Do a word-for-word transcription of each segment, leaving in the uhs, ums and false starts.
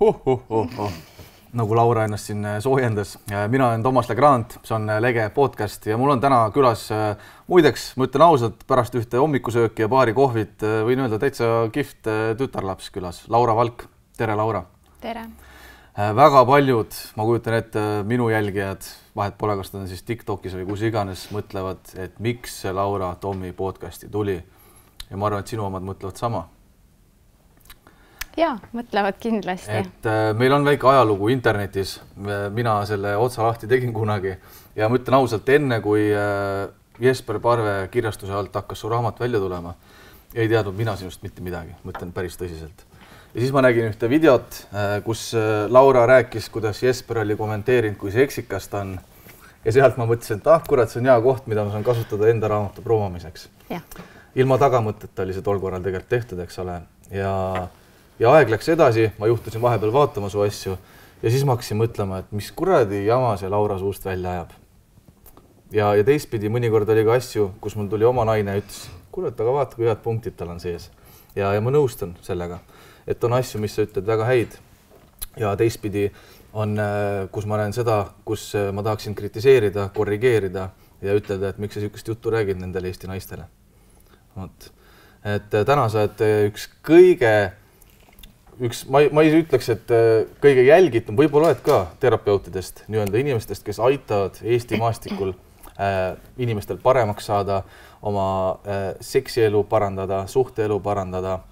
Oh, oh, oh, oh. Nagu Laura ennast siin soojendas. Mina olen Toomas Legrand, see on Lege podcast ja mul on täna külas, muideks, ma ütlen ausalt, pärast ühte hommikusööki ja paari kohvit võin öelda täitsa kihvt tütarlaps külas. Laura Valk. Tere, Laura. Tere. Väga paljud, ma kujutan ette, minu jälgijad, vahet pole, kas ta on siis TikTokis või kus iganes, mõtlevad, et miks see Laura Tommi podcasti tuli. Ja ma arvan, et sinu omad mõtlevad sama. Jaa, mõtlevad kindlasti. Et meil on väike ajalugu internetis. Mina selle otsa lahti tegin kunagi ja ma ütlen ausalt, enne kui Jesper Parve kirjastuse alt hakkas su raamat välja tulema, ei teadnud mina sinust mitte midagi, mõtlen päris tõsiselt. Ja siis ma nägin ühte videot, kus Laura rääkis, kuidas Jesper oli kommenteerinud, kui seksikas ta on. Ja sealt ma mõtlesin, et ah, kurat, see on hea koht, mida ma saan kasutada enda raamatu promomiseks. Ja. Ilma tagamõtteta oli see tol korral tegelikult tehtud, eks ole. Ja, ja aeg läks edasi, ma juhtusin vahepeal vaatama su asju ja siis ma hakkasin mõtlema, et mis kuradi jama see Laura suust välja ajab. Ja, ja teistpidi mõnikord oli ka asju, kus mul tuli oma naine ja ütles, kurat, aga vaata, kui head punktid tal on sees. Ja, ja ma nõustun sellega. Et on asju, mis sa ütled väga häid ja teistpidi on, kus ma näen seda, kus ma tahaksin kritiseerida, korrigeerida ja ütelda, et miks sa sihukest juttu räägid nendele Eesti naistele. Et täna sa oled üks kõige, üks, ma, ma ei ütleks, et kõige jälgitum, võib-olla oled ka terapeutidest, nii-öelda inimestest, kes aitavad Eesti maastikul äh, inimestel paremaks saada, oma äh, seksielu parandada, suhteelu parandada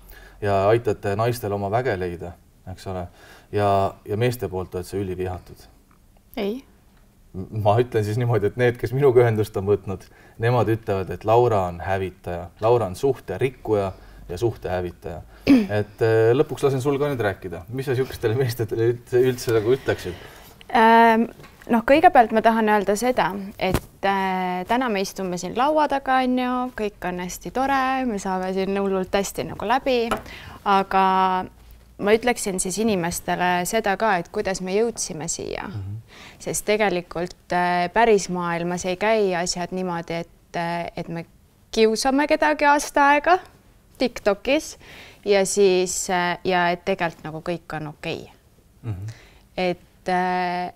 ja aitate naistel oma väge leida, eks ole. Ja, ja meeste poolt oled sa ülivihatud. Ei. Ma ütlen siis niimoodi, et need, kes minuga ühendust on võtnud, nemad ütlevad, et Laura on hävitaja. Laura on suhte rikkuja ja suhte hävitaja. Et lõpuks lasen sul ka nüüd rääkida. Mis sa sihukestele meestele üldse nagu ütleksid? Ähm, noh, kõigepealt ma tahan öelda seda, et äh, täna me istume siin laua taga, on ju, kõik on hästi tore, me saame siin hullult hästi nagu läbi, aga ma ütleksin siis inimestele seda ka, et kuidas me jõudsime siia. Mm-hmm. Sest tegelikult äh, päris maailmas ei käi asjad niimoodi, et, äh, et me kiusame kedagi aasta aega TikTokis ja siis äh, ja et tegelikult nagu kõik on okei. Mm-hmm. Et äh,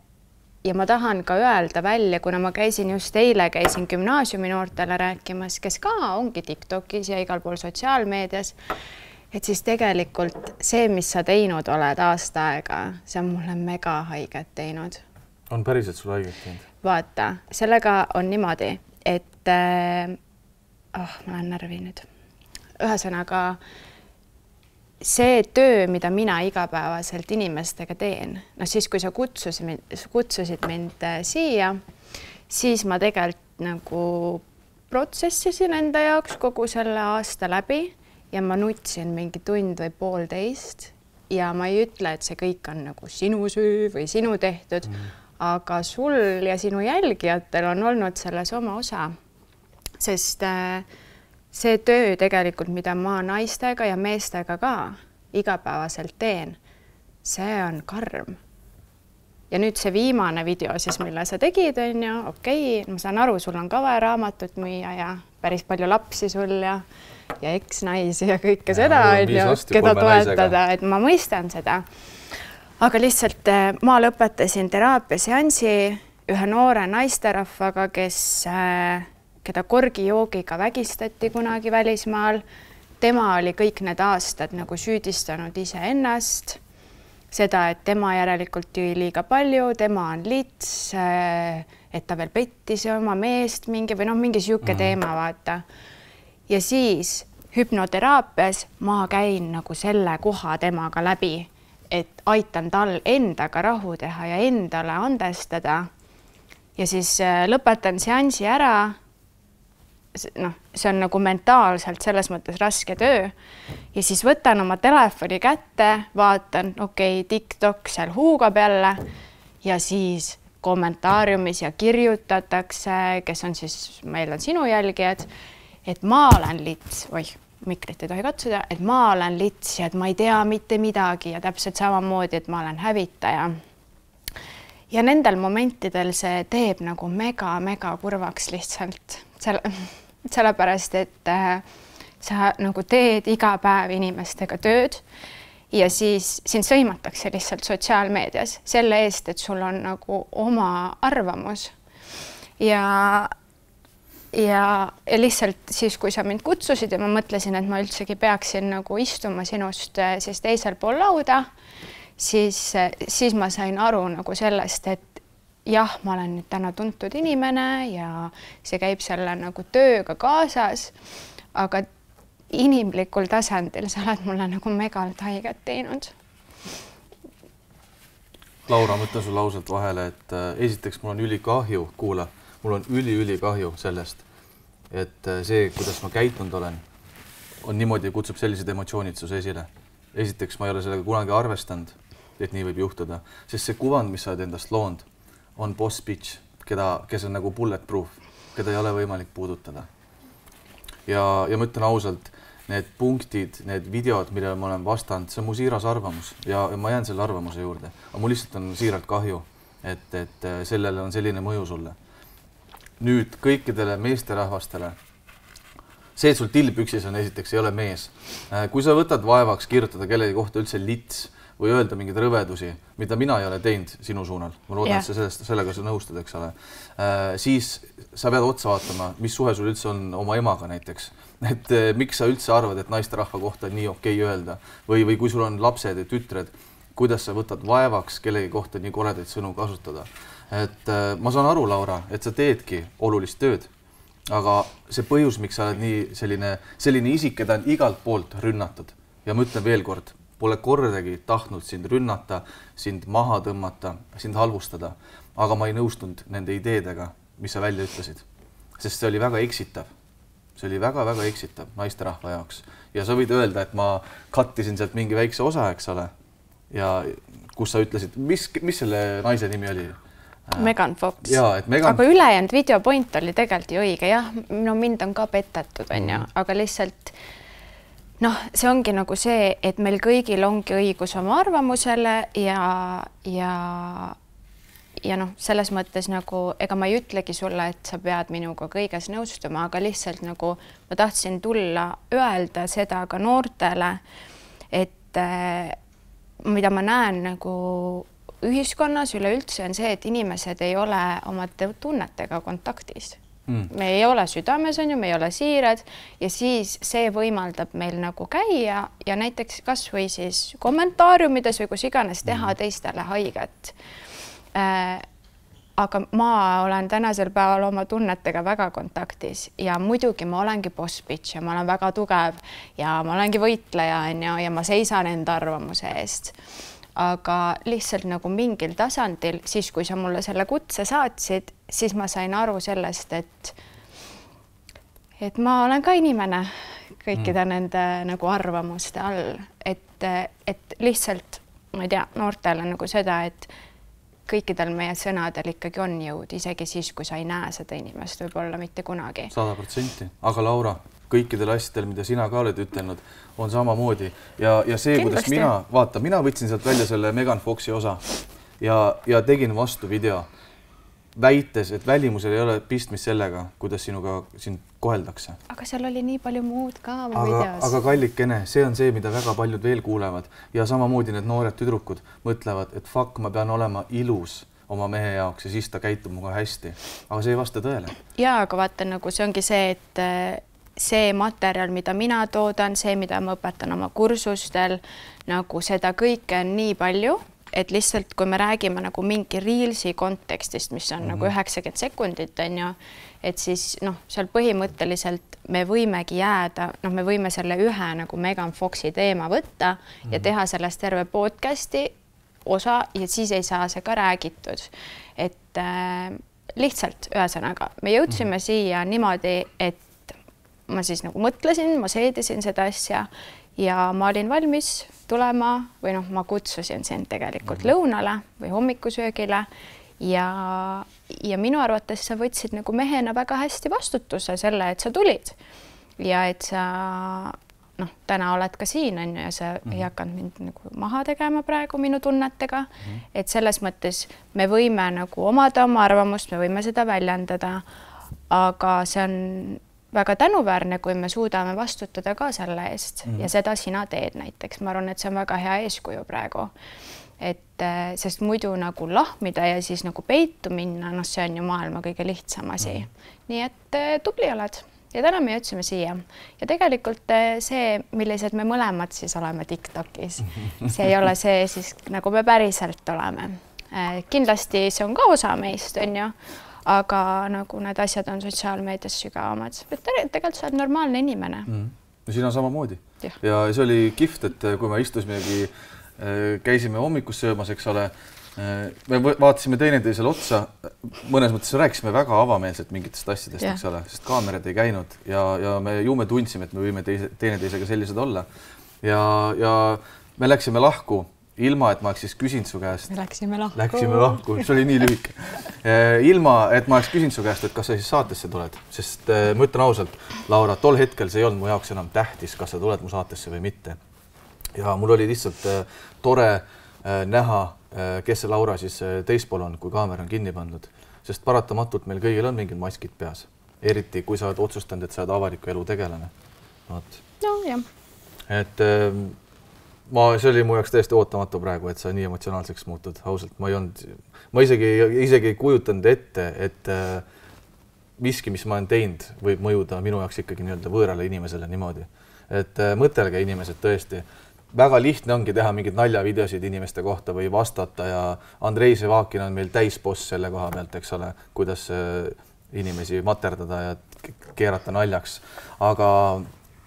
ja ma tahan ka öelda välja, kuna ma käisin just eile, käisin gümnaasiumi noortele rääkimas, kes ka ongi TikTokis ja igal pool sotsiaalmeedias, et siis tegelikult see, mis sa teinud oled aasta aega, see on mulle mega haiget teinud. On päriselt sul haiget teinud? Vaata, sellega on niimoodi, et äh, oh, ma olen närvi nüüd. Ühesõnaga, see töö, mida mina igapäevaselt inimestega teen, no siis, kui sa kutsusid, kutsusid mind siia, siis ma tegelikult nagu protsessisin enda jaoks kogu selle aasta läbi ja ma nutsin mingi tund või poolteist ja ma ei ütle, et see kõik on nagu sinu süü või sinu tehtud, mm. aga sul ja sinu jälgijatel on olnud selles oma osa, sest äh, see töö tegelikult, mida ma naistega ja meestega ka igapäevaselt teen, see on karm. Ja nüüd see viimane video siis, mille sa tegid, on ju, okei, ma saan aru, sul on ka vaja raamatut müüa ja päris palju lapsi sul ja, ja eksnaisi ja kõike ja, seda, on ju, keda toetada, et ma mõistan seda. Aga lihtsalt ma lõpetasin teraapiaseansi ühe noore naisterahvaga, kes keda korgijoogiga vägistati kunagi välismaal. Tema oli kõik need aastad nagu süüdistanud ise ennast. Seda, et tema järelikult jõi liiga palju, tema on lits, et ta veel pettis oma meest mingi või noh, mingi siuke mm. teema, vaata. Ja siis hüpnoteraapias ma käin nagu selle koha temaga läbi, et aitan tal endaga rahu teha ja endale andestada. Ja siis lõpetan seansi ära. noh, see on nagu mentaalselt selles mõttes raske töö ja siis võtan oma telefoni kätte, vaatan, okei, okay, TikTok seal huugab jälle ja siis kommentaariumis ja kirjutatakse, kes on siis, meil on sinu jälgijad, et ma olen lits, oih, mikrit ei tohi katsuda, et ma olen lits ja et ma ei tea mitte midagi ja täpselt samamoodi, et ma olen hävitaja. Ja nendel momentidel see teeb nagu mega, mega kurvaks lihtsalt. Selle, sellepärast, et äh, sa nagu teed iga päev inimestega tööd ja siis sind sõimatakse lihtsalt sotsiaalmeedias selle eest, et sul on nagu oma arvamus. Ja, ja, ja lihtsalt siis, kui sa mind kutsusid ja ma mõtlesin, et ma üldsegi peaksin nagu istuma sinust siis teisel pool lauda, siis, siis ma sain aru nagu sellest, et jah, ma olen nüüd täna tuntud inimene ja see käib selle nagu tööga kaasas, aga inimlikul tasandil sa oled mulle nagu megalt haiget teinud. Laura, mõtlen sul ausalt vahele, et esiteks mul on ülikahju, kuula, mul on üli-üli kahju sellest, et see, kuidas ma käitunud olen, on niimoodi, kutsub sellised emotsioonid sus esile. Esiteks ma ei ole sellega kunagi arvestanud, et nii võib juhtuda, sest see kuvand, mis sa oled endast loonud, on boss bitch, keda, kes on nagu bulletproof, keda ei ole võimalik puudutada. Ja, ja ma ütlen ausalt, need punktid, need videod, millele ma olen vastanud, see on mu siiras arvamus ja, ja ma jään selle arvamuse juurde. Aga mul lihtsalt on siiralt kahju, et, et sellele on selline mõju sulle. Nüüd kõikidele meesterahvastele, see, et sul tilpüksis on esiteks, ei ole mees. Kui sa võtad vaevaks kirjutada kellegi kohta üldse lits või öelda mingeid rõvedusi, mida mina ei ole teinud sinu suunal, ma loodan, yeah. et sa sellest, sellega sa nõustud, eks ole, siis sa pead otsa vaatama, mis suhe sul üldse on oma emaga näiteks. Et miks sa üldse arvad, et naisterahva kohta nii okei öelda või, või kui sul on lapsed ja tütred, kuidas sa võtad vaevaks kellegi kohta nii koledaid sõnu kasutada. Et ma saan aru, Laura, et sa teedki olulist tööd, aga see põhjus, miks sa oled nii selline, selline isik, keda on igalt poolt rünnatud ja ma ütlen veel kord, pole kordagi tahtnud sind rünnata, sind maha tõmmata, sind halvustada, aga ma ei nõustunud nende ideedega, mis sa välja ütlesid, sest see oli väga eksitav. See oli väga-väga eksitav naisterahva jaoks ja sa võid öelda, et ma kattisin sealt mingi väikse osa, eks ole, ja kus sa ütlesid, mis, mis selle naise nimi oli? Megan Fox. Ja, et Megan... Aga ülejäänud videopoint oli tegelikult ju õige, jah, no mind on ka petetud, on ju, aga lihtsalt noh, see ongi nagu see, et meil kõigil ongi õigus oma arvamusele ja, ja, ja noh, selles mõttes nagu, ega ma ei ütlegi sulle, et sa pead minuga kõiges nõustuma, aga lihtsalt nagu ma tahtsin tulla öelda seda ka noortele, et mida ma näen nagu ühiskonnas üleüldse on see, et inimesed ei ole oma tunnetega kontaktis. Mm. Me ei ole südames, on ju, me ei ole siirad ja siis see võimaldab meil nagu käia ja näiteks kas või siis kommentaariumides või kus iganes teha mm. teistele haiget. Äh, aga ma olen tänasel päeval oma tunnetega väga kontaktis ja muidugi ma olengi boss bitch ja ma olen väga tugev ja ma olengi võitleja on ju, ja ma seisan enda arvamuse eest. Aga lihtsalt nagu mingil tasandil, siis kui sa mulle selle kutse saatsid, siis ma sain aru sellest, et, et ma olen ka inimene kõikide mm. nende nagu arvamuste all. Et, et lihtsalt, ma ei tea, noortele nagu seda, et kõikidel meie sõnadel ikkagi on jõud, isegi siis, kui sa ei näe seda inimest, võib-olla mitte kunagi. sada protsenti. Aga Laura, kõikidel asjadel, mida sina ka oled ütelnud, on samamoodi ja, ja see, kuidas mina, vaata, mina võtsin sealt välja selle Megan Foxi osa ja, ja tegin vastu video, väites, et välimusel ei ole pistmist sellega, kuidas sinuga sind koheldakse. Aga seal oli nii palju muud ka oma aga, videos. Aga kallikene, see on see, mida väga paljud veel kuulevad ja samamoodi need noored tüdrukud mõtlevad, et fuck, ma pean olema ilus oma mehe jaoks ja siis ta käitub muga hästi. Aga see ei vasta tõele. Jaa, aga vaata, nagu see ongi see, et see materjal, mida mina toodan, see, mida ma õpetan oma kursustel, nagu seda kõike on nii palju, et lihtsalt kui me räägime nagu mingi reelsi kontekstist, mis on mm-hmm. nagu üheksakümmend sekundit, on ju, et siis noh, seal põhimõtteliselt me võimegi jääda, noh, me võime selle ühe nagu Megan Foxi teema võtta mm-hmm. ja teha sellest terve podcasti osa ja siis ei saa see ka räägitud. Et äh, lihtsalt ühesõnaga, me jõudsime mm-hmm. siia niimoodi, et ma siis nagu mõtlesin, ma seedisin seda asja ja ma olin valmis tulema või noh, ma kutsusin sind tegelikult mm-hmm. lõunale või hommikusöögile ja, ja minu arvates sa võtsid nagu mehena väga hästi vastutuse selle, et sa tulid ja et sa noh, täna oled ka siin on ju ja sa mm-hmm. ei hakanud mind nagu maha tegema praegu minu tunnetega, mm-hmm. et selles mõttes me võime nagu omada oma arvamust, me võime seda väljendada, aga see on väga tänuväärne, kui me suudame vastutada ka selle eest mm. ja seda sina teed näiteks. Ma arvan, et see on väga hea eeskuju praegu. Et sest muidu nagu lahmida ja siis nagu peitu minna, noh, see on ju maailma kõige lihtsam asi. Mm. Nii et tubli oled ja täna me jõudsime siia. Ja tegelikult see, millised me mõlemad siis oleme TikTokis, see ei ole see siis nagu me päriselt oleme. Kindlasti see on ka osa meist, on ju, aga nagu need asjad on sotsiaalmeedias sügavamad. Tegelikult sa oled normaalne inimene. Mm. Ja siin on samamoodi. Ja. ja see oli kihvt, et kui me istusimegi, käisime hommikus söömas, eks ole, me vaatasime teineteisele otsa, mõnes mõttes rääkisime väga avameelselt mingitest asjadest, eks ole, sest kaamerad ei käinud ja, ja me ju me tundsime, et me võime teise, teineteisega sellised olla. Ja, ja me läksime lahku ilma, et ma oleks siis küsinud su käest. Me läksime lahku. Läksime lahku, see oli nii lühike. Ilma, et ma oleks küsinud su käest, et kas sa siis saatesse tuled, sest ma ütlen ausalt, Laura, tol hetkel see ei olnud mu jaoks enam tähtis, kas sa tuled mu saatesse või mitte. Ja mul oli lihtsalt tore näha, kes see Laura siis teispool on, kui kaamera on kinni pandud, sest paratamatult meil kõigil on mingid maskid peas, eriti kui sa oled otsustanud, et sa oled avaliku elu tegelane. Vaat. No, jah. Et ma, see oli mu jaoks täiesti ootamatu praegu, et sa nii emotsionaalseks muutud, ausalt. Ma ei olnud, ma isegi, isegi ei kujutanud ette, et miski, mis ma olen teinud, võib mõjuda minu jaoks ikkagi nii-öelda võõrale inimesele niimoodi. Et mõtelge inimesed tõesti, väga lihtne ongi teha mingid naljavideosid inimeste kohta või vastata ja Andrei Sevakin on meil täisboss selle koha pealt, eks ole, kuidas inimesi materdada ja keerata naljaks. Aga,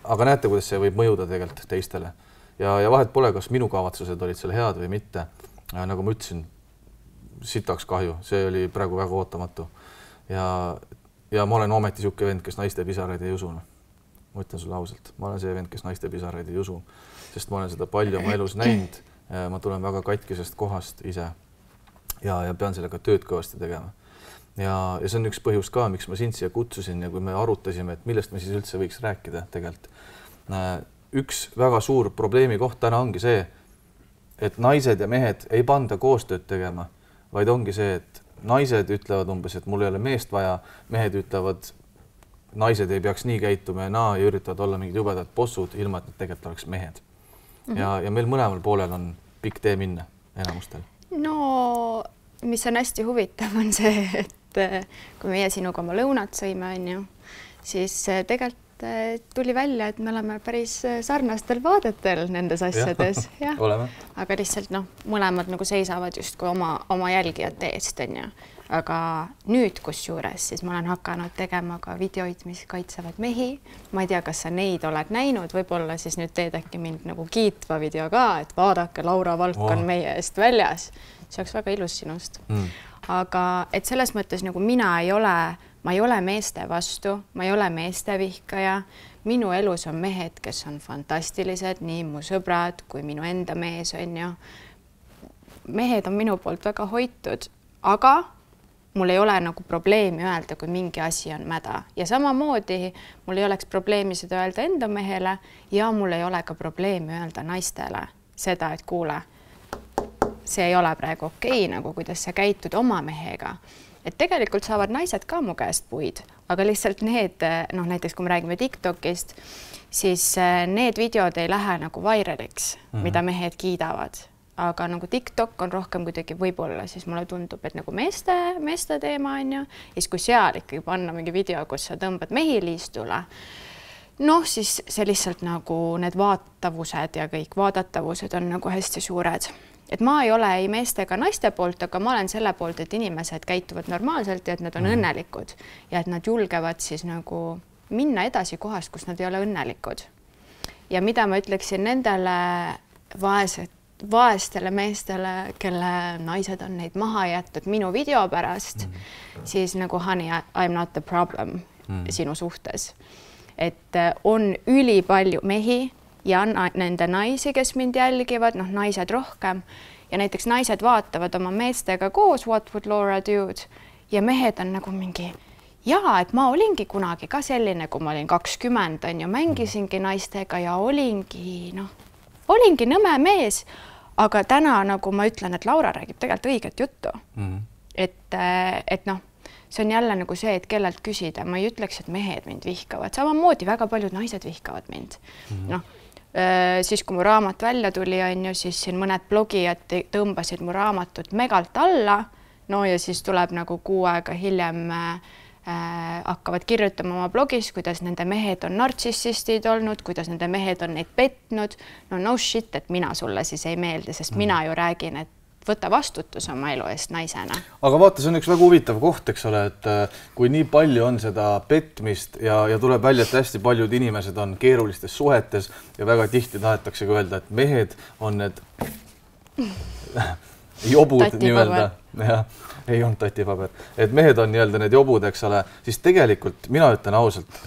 aga näete, kuidas see võib mõjuda tegelikult teistele. Ja, ja vahet pole, kas minu kavatsused olid seal head või mitte. Nagu ma ütlesin, sitaks kahju, see oli praegu väga ootamatu. Ja, ja ma olen ometi siuke vend, kes naiste pisaraid ei usu. Ma ütlen sulle ausalt, ma olen see vend, kes naiste pisaraid ei usu, sest ma olen seda palju oma elus näinud. Ma tulen väga katkisest kohast ise ja, ja pean sellega tööd kõvasti tegema. Ja, ja see on üks põhjus ka, miks ma sind siia kutsusin ja kui me arutasime, et millest me siis üldse võiks rääkida tegelikult. Üks väga suur probleemi koht täna ongi see, et naised ja mehed ei panda koostööd tegema, vaid ongi see, et naised ütlevad umbes, et mul ei ole meest vaja, mehed ütlevad, naised ei peaks nii käituma ja naa ja üritavad olla mingid jubedad bossud, ilma et nad tegelikult oleks mehed. Ja, ja meil mõlemal poolel on pikk tee minna enamustel. No, mis on hästi huvitav on see, et kui meie sinuga oma lõunat sõime, on ju, siis tegelikult tuli välja, et me oleme päris sarnastel vaadetel nendes asjades. Ja, oleme. Aga lihtsalt noh, mõlemad nagu seisavad just kui oma, oma jälgijate eest, on ju. Aga nüüd, kus juures, siis ma olen hakanud tegema ka videoid, mis kaitsevad mehi. Ma ei tea, kas sa neid oled näinud, võib-olla siis nüüd teed äkki mind nagu kiitva video ka, et vaadake, Laura Valk on wow. meie eest väljas. See oleks väga ilus sinust. Mm. Aga et selles mõttes nagu mina ei ole, ma ei ole meeste vastu, ma ei ole meeste vihkaja. Minu elus on mehed, kes on fantastilised, nii mu sõbrad kui minu enda mees on ju. Mehed on minu poolt väga hoitud, aga mul ei ole nagu probleemi öelda, kui mingi asi on mäda. Ja samamoodi mul ei oleks probleemi seda öelda enda mehele ja mul ei ole ka probleemi öelda naistele seda, et kuule, see ei ole praegu okei, nagu kuidas sa käitud oma mehega. Et tegelikult saavad naised ka mu käest puid, aga lihtsalt need, noh näiteks kui me räägime TikTokist, siis need videod ei lähe nagu vairaliks, mm-hmm. mida mehed kiidavad. Aga nagu TikTok on rohkem kuidagi võib-olla, siis mulle tundub, et nagu meeste, meeste teema on ju. Ja siis kui seal ikkagi panna mingi video, kus sa tõmbad mehi liistule, noh, siis see lihtsalt nagu need vaatavused ja kõik vaadatavused on nagu hästi suured. Et ma ei ole ei meeste ega naiste poolt, aga ma olen selle poolt, et inimesed käituvad normaalselt ja et nad on mm. õnnelikud ja et nad julgevad siis nagu minna edasi kohast, kus nad ei ole õnnelikud. Ja mida ma ütleksin nendele vaesed vaestele meestele, kelle naised on neid maha jätud minu video pärast, mm. siis nagu honey, I'm not the problem mm. sinu suhtes. Et on üli palju mehi ja nende naisi, kes mind jälgivad, noh naised rohkem ja näiteks naised vaatavad oma meestega koos What would Laura do ja mehed on nagu mingi jaa, et ma olingi kunagi ka selline, kui ma olin kakskümmend, on ju, mängisingi naistega ja olingi, noh, olingi nõme mees, aga täna nagu ma ütlen, et Laura räägib tegelikult õiget juttu. Mm. Et, et noh, see on jälle nagu see, et kellelt küsida, ma ei ütleks, et mehed mind vihkavad, samamoodi väga paljud naised vihkavad mind. Mm-hmm. noh, siis kui mu raamat välja tuli, on ju, siis siin mõned blogijad tõmbasid mu raamatut megalt alla, no ja siis tuleb nagu kuu aega hiljem äh, hakkavad kirjutama oma blogis, kuidas nende mehed on nartsissistid olnud, kuidas nende mehed on neid petnud. No no shit, et mina sulle siis ei meeldi, sest mm. mina ju räägin, et võta vastutus oma elu eest naisena. Aga vaata, see on üks väga huvitav koht, eks ole, et kui nii palju on seda petmist ja, ja tuleb välja, et hästi paljud inimesed on keerulistes suhetes ja väga tihti tahetakse öelda, et mehed on need jobud nii-öelda. Ja, ei olnud tatipaber. Et mehed on nii-öelda need jobud, eks ole, siis tegelikult mina ütlen ausalt,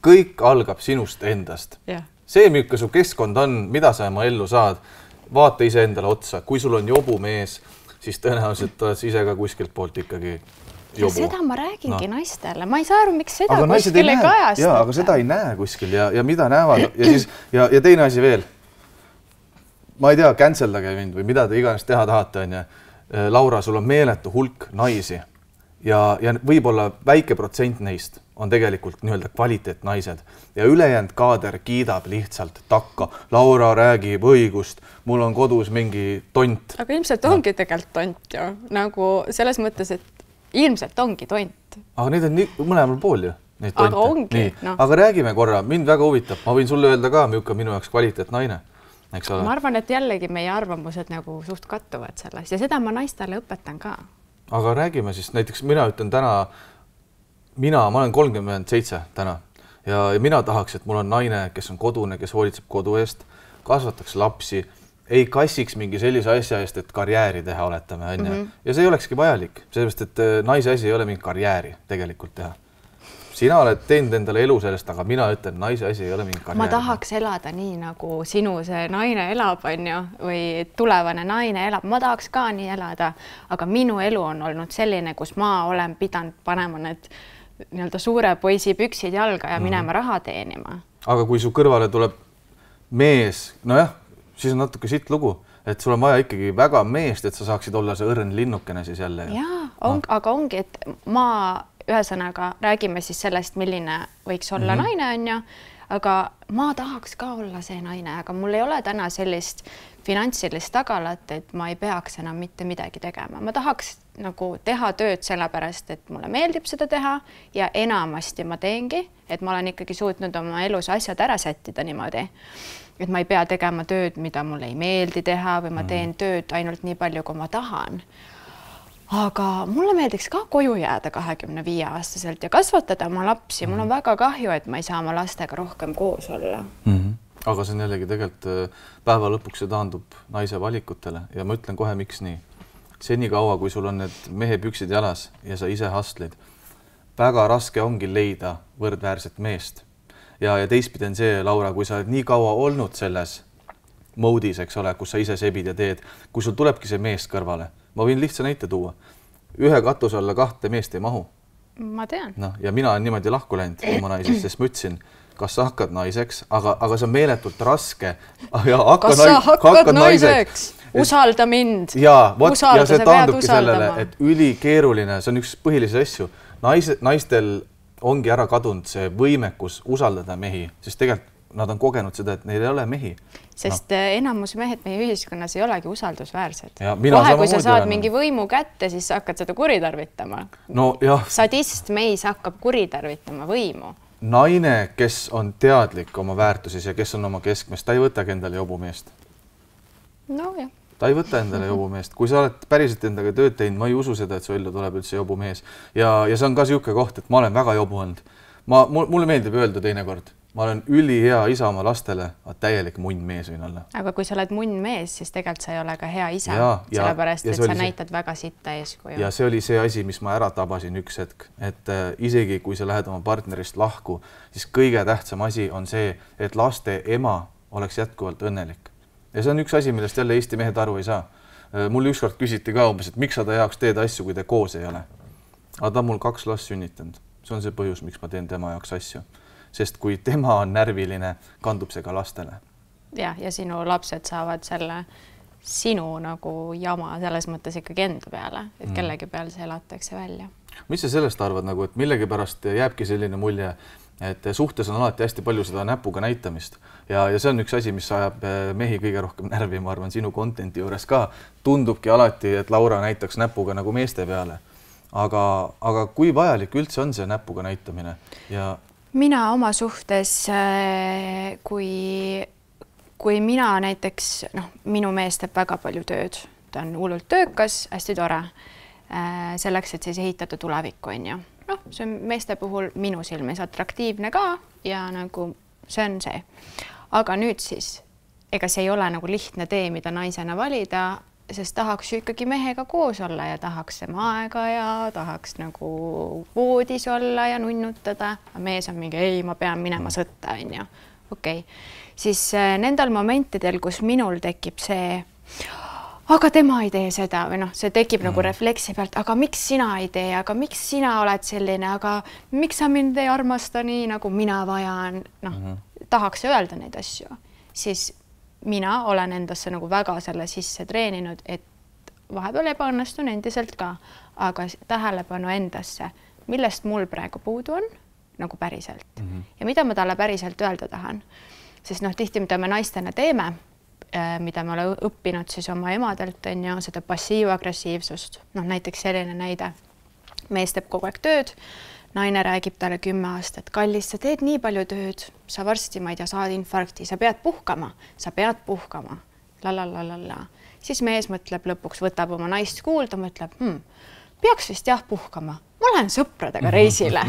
kõik algab sinust endast. Yeah. See, milline su keskkond on, mida sa oma ellu saad, vaata ise endale otsa. Kui sul on jobu mees, siis tõenäoliselt oled ise ka kuskilt poolt ikkagi jobu. Ja seda ma räägingi no. naistele. Ma ei saa aru, miks seda aga kuskil ei kajastada. Jaa, aga seda ei näe kuskil ja, ja mida näevad. Ja, siis, ja, ja teine asi veel. Ma ei tea, canceldage mind või mida te iganes teha tahate. On ja. Laura, sul on meeletu hulk naisi ja, ja võib-olla väike protsent neist on tegelikult nii-öelda kvaliteetnaised ja ülejäänud kaader kiidab lihtsalt takka. Laura räägib õigust, mul on kodus mingi tont. Aga ilmselt ongi no. tegelikult tont ju, nagu selles mõttes, et ilmselt ongi tont. Aga neid on nii, mõlemal pool ju. Aga ongi. No. Aga räägime korra, mind väga huvitab, ma võin sulle öelda ka, milline minu jaoks kvaliteetnaine. Eks ole? Ma arvan, et jällegi meie arvamused nagu suht kattuvad sellest ja seda ma naistele õpetan ka. Aga räägime siis, näiteks mina ütlen täna, mina, ma olen kolmkümmend seitse täna ja, ja mina tahaks, et mul on naine, kes on kodune, kes hoolitseb kodu eest, kasvataks lapsi, ei kassiks mingi sellise asja eest, et karjääri teha oletame. Mm -hmm. Ja see ei olekski vajalik, sellepärast, et naise asi ei ole mingi karjääri tegelikult teha. Sina oled teinud endale elu sellest, aga mina ütlen, naise asi ei ole mingi karjääri. Ma tahaks elada nii, nagu sinu see naine elab, on ju, või tulevane naine elab. Ma tahaks ka nii elada, aga minu elu on olnud selline, kus ma olen pidanud panema need nii-öelda suure poisi püksid jalga ja minema mm. raha teenima. Aga kui su kõrvale tuleb mees, nojah, siis on natuke siit lugu, et sul on vaja ikkagi väga meest, et sa saaksid olla see õrn linnukene siis jälle. Jaa, on, no. aga ongi, et ma ühesõnaga räägime siis sellest, milline võiks olla mm -hmm. naine, on ju, aga ma tahaks ka olla see naine, aga mul ei ole täna sellist finantsilist tagalat, et ma ei peaks enam mitte midagi tegema. Ma tahaks nagu teha tööd sellepärast, et mulle meeldib seda teha ja enamasti ma teengi, et ma olen ikkagi suutnud oma elus asjad ära sättida niimoodi, et ma ei pea tegema tööd, mida mulle ei meeldi teha või ma teen tööd ainult nii palju, kui ma tahan. Aga mulle meeldiks ka koju jääda kahekümne viie aastaselt ja kasvatada oma lapsi. Mul on väga kahju, et ma ei saa oma lastega rohkem koos olla. Mm -hmm. Aga see on jällegi tegelikult päeva lõpuks see taandub naise valikutele ja ma ütlen kohe, miks nii. Seni kaua, kui sul on need mehe püksid jalas ja sa ise hustlid, väga raske ongi leida võrdväärset meest. Ja, ja teistpidi on see, Laura, kui sa oled nii kaua olnud selles moodis, eks ole, kus sa ise sebid ja teed, kui sul tulebki see mees kõrvale. Ma võin lihtsa näite tuua. Ühe katus alla kahte meest ei mahu. Ma tean. No, ja mina olen niimoodi lahku läinud oma naisest, sest ma ütlesin, kas sa hakkad naiseks, aga, aga see on meeletult raske. Ja hakka kas sa hakkad, hakkad naiseks? naiseks? Usalda mind. Ja, võt, ja see taandubki sellele, et ülikeeruline, see on üks põhilisi asju. Naise, naistel ongi ära kadunud see võimekus usaldada mehi, sest tegelikult nad on kogenud seda, et neil ei ole mehi. Sest no. enamus mehed meie ühiskonnas ei olegi usaldusväärsed. Kohe, kui sa saad olen. mingi võimu kätte, siis hakkad seda kuritarvitama. No, jah. Sadist meis hakkab kuritarvitama võimu. Naine, kes on teadlik oma väärtuses ja kes on oma keskmest, ta ei võtagi endale jobumeest. No jah. Ta ei võta endale jobumeest. Kui sa oled päriselt endaga tööd teinud, ma ei usu seda, et su ellu tuleb üldse jobumees. Ja, ja see on ka siuke koht, et ma olen väga jobu olnud. Ma, mulle meeldib öelda teinekord. Ma olen üli hea isa oma lastele, aga täielik munn mees võin olla. Aga kui sa oled munn mees, siis tegelikult sa ei ole ka hea isa, ja, sellepärast, ja et sa näitad see, väga sitta eeskuju. Ja see oli see asi, mis ma ära tabasin üks hetk, et äh, isegi kui sa lähed oma partnerist lahku, siis kõige tähtsam asi on see, et laste ema oleks jätkuvalt õnnelik. Ja see on üks asi, millest jälle Eesti mehed aru ei saa. Äh, mul ükskord küsiti ka umbes, et miks sa ta jaoks teed asju, kui te koos ei ole. Aga ta on mul kaks last sünnitanud. See on see põhjus, miks ma teen tema jaoks asju. Sest kui tema on närviline, kandub see ka lastele. Ja, ja sinu lapsed saavad selle sinu nagu jama selles mõttes ikkagi enda peale, et kellegi peal see elatakse välja. mis sa sellest arvad, nagu, et millegipärast jääbki selline mulje, et suhtes on alati hästi palju seda näpuga näitamist ja, ja see on üks asi, mis ajab mehi kõige rohkem närvi, ma arvan, sinu contenti juures ka. Tundubki alati, et Laura näitaks näpuga nagu meeste peale. Aga, aga kui vajalik üldse on see näpuga näitamine? Ja... Mina oma suhtes, kui, kui mina näiteks, noh, minu mees teeb väga palju tööd, ta on hullult töökas, hästi tore, selleks, et siis ehitada tulevikku, on ju. Noh, see on meeste puhul minu silmis atraktiivne ka ja nagu see on see. Aga nüüd siis, ega see ei ole nagu lihtne tee, mida naisena valida, sest tahaks ju ikkagi mehega koos olla ja tahaks tema aega ja tahaks nagu voodis olla ja nunnutada. Mees on mingi, ei, ma pean minema sõtta, on ju. Okei. Siis nendel momentidel, kus minul tekib see aga tema ei tee seda või noh, see tekib mm. nagu refleksi pealt, aga miks sina ei tee, aga miks sina oled selline, aga miks sa mind ei armasta nii, nagu mina vajan, noh, mm -hmm. tahaks öelda neid asju, siis mina olen endasse nagu väga selle sisse treeninud, et vahepeal ebaõnnestun endiselt ka, aga tähelepanu endasse, millest mul praegu puudu on, nagu päriselt. Mm -hmm. Ja mida ma talle päriselt öelda tahan, sest noh, tihti, mida me naistena teeme, mida me oleme õppinud siis oma emadelt, on ju, seda passiivagressiivsust. Noh, näiteks selline näide. Mees teeb kogu aeg tööd, naine räägib talle kümme aastat, kallis, sa teed nii palju tööd, sa varsti, ma ei tea, saad infarkti, sa pead puhkama, sa pead puhkama, lalalala. Siis mees mõtleb lõpuks, võtab oma naist kuulda, mõtleb, hmm, peaks vist jah puhkama, ma lähen sõpradega reisile.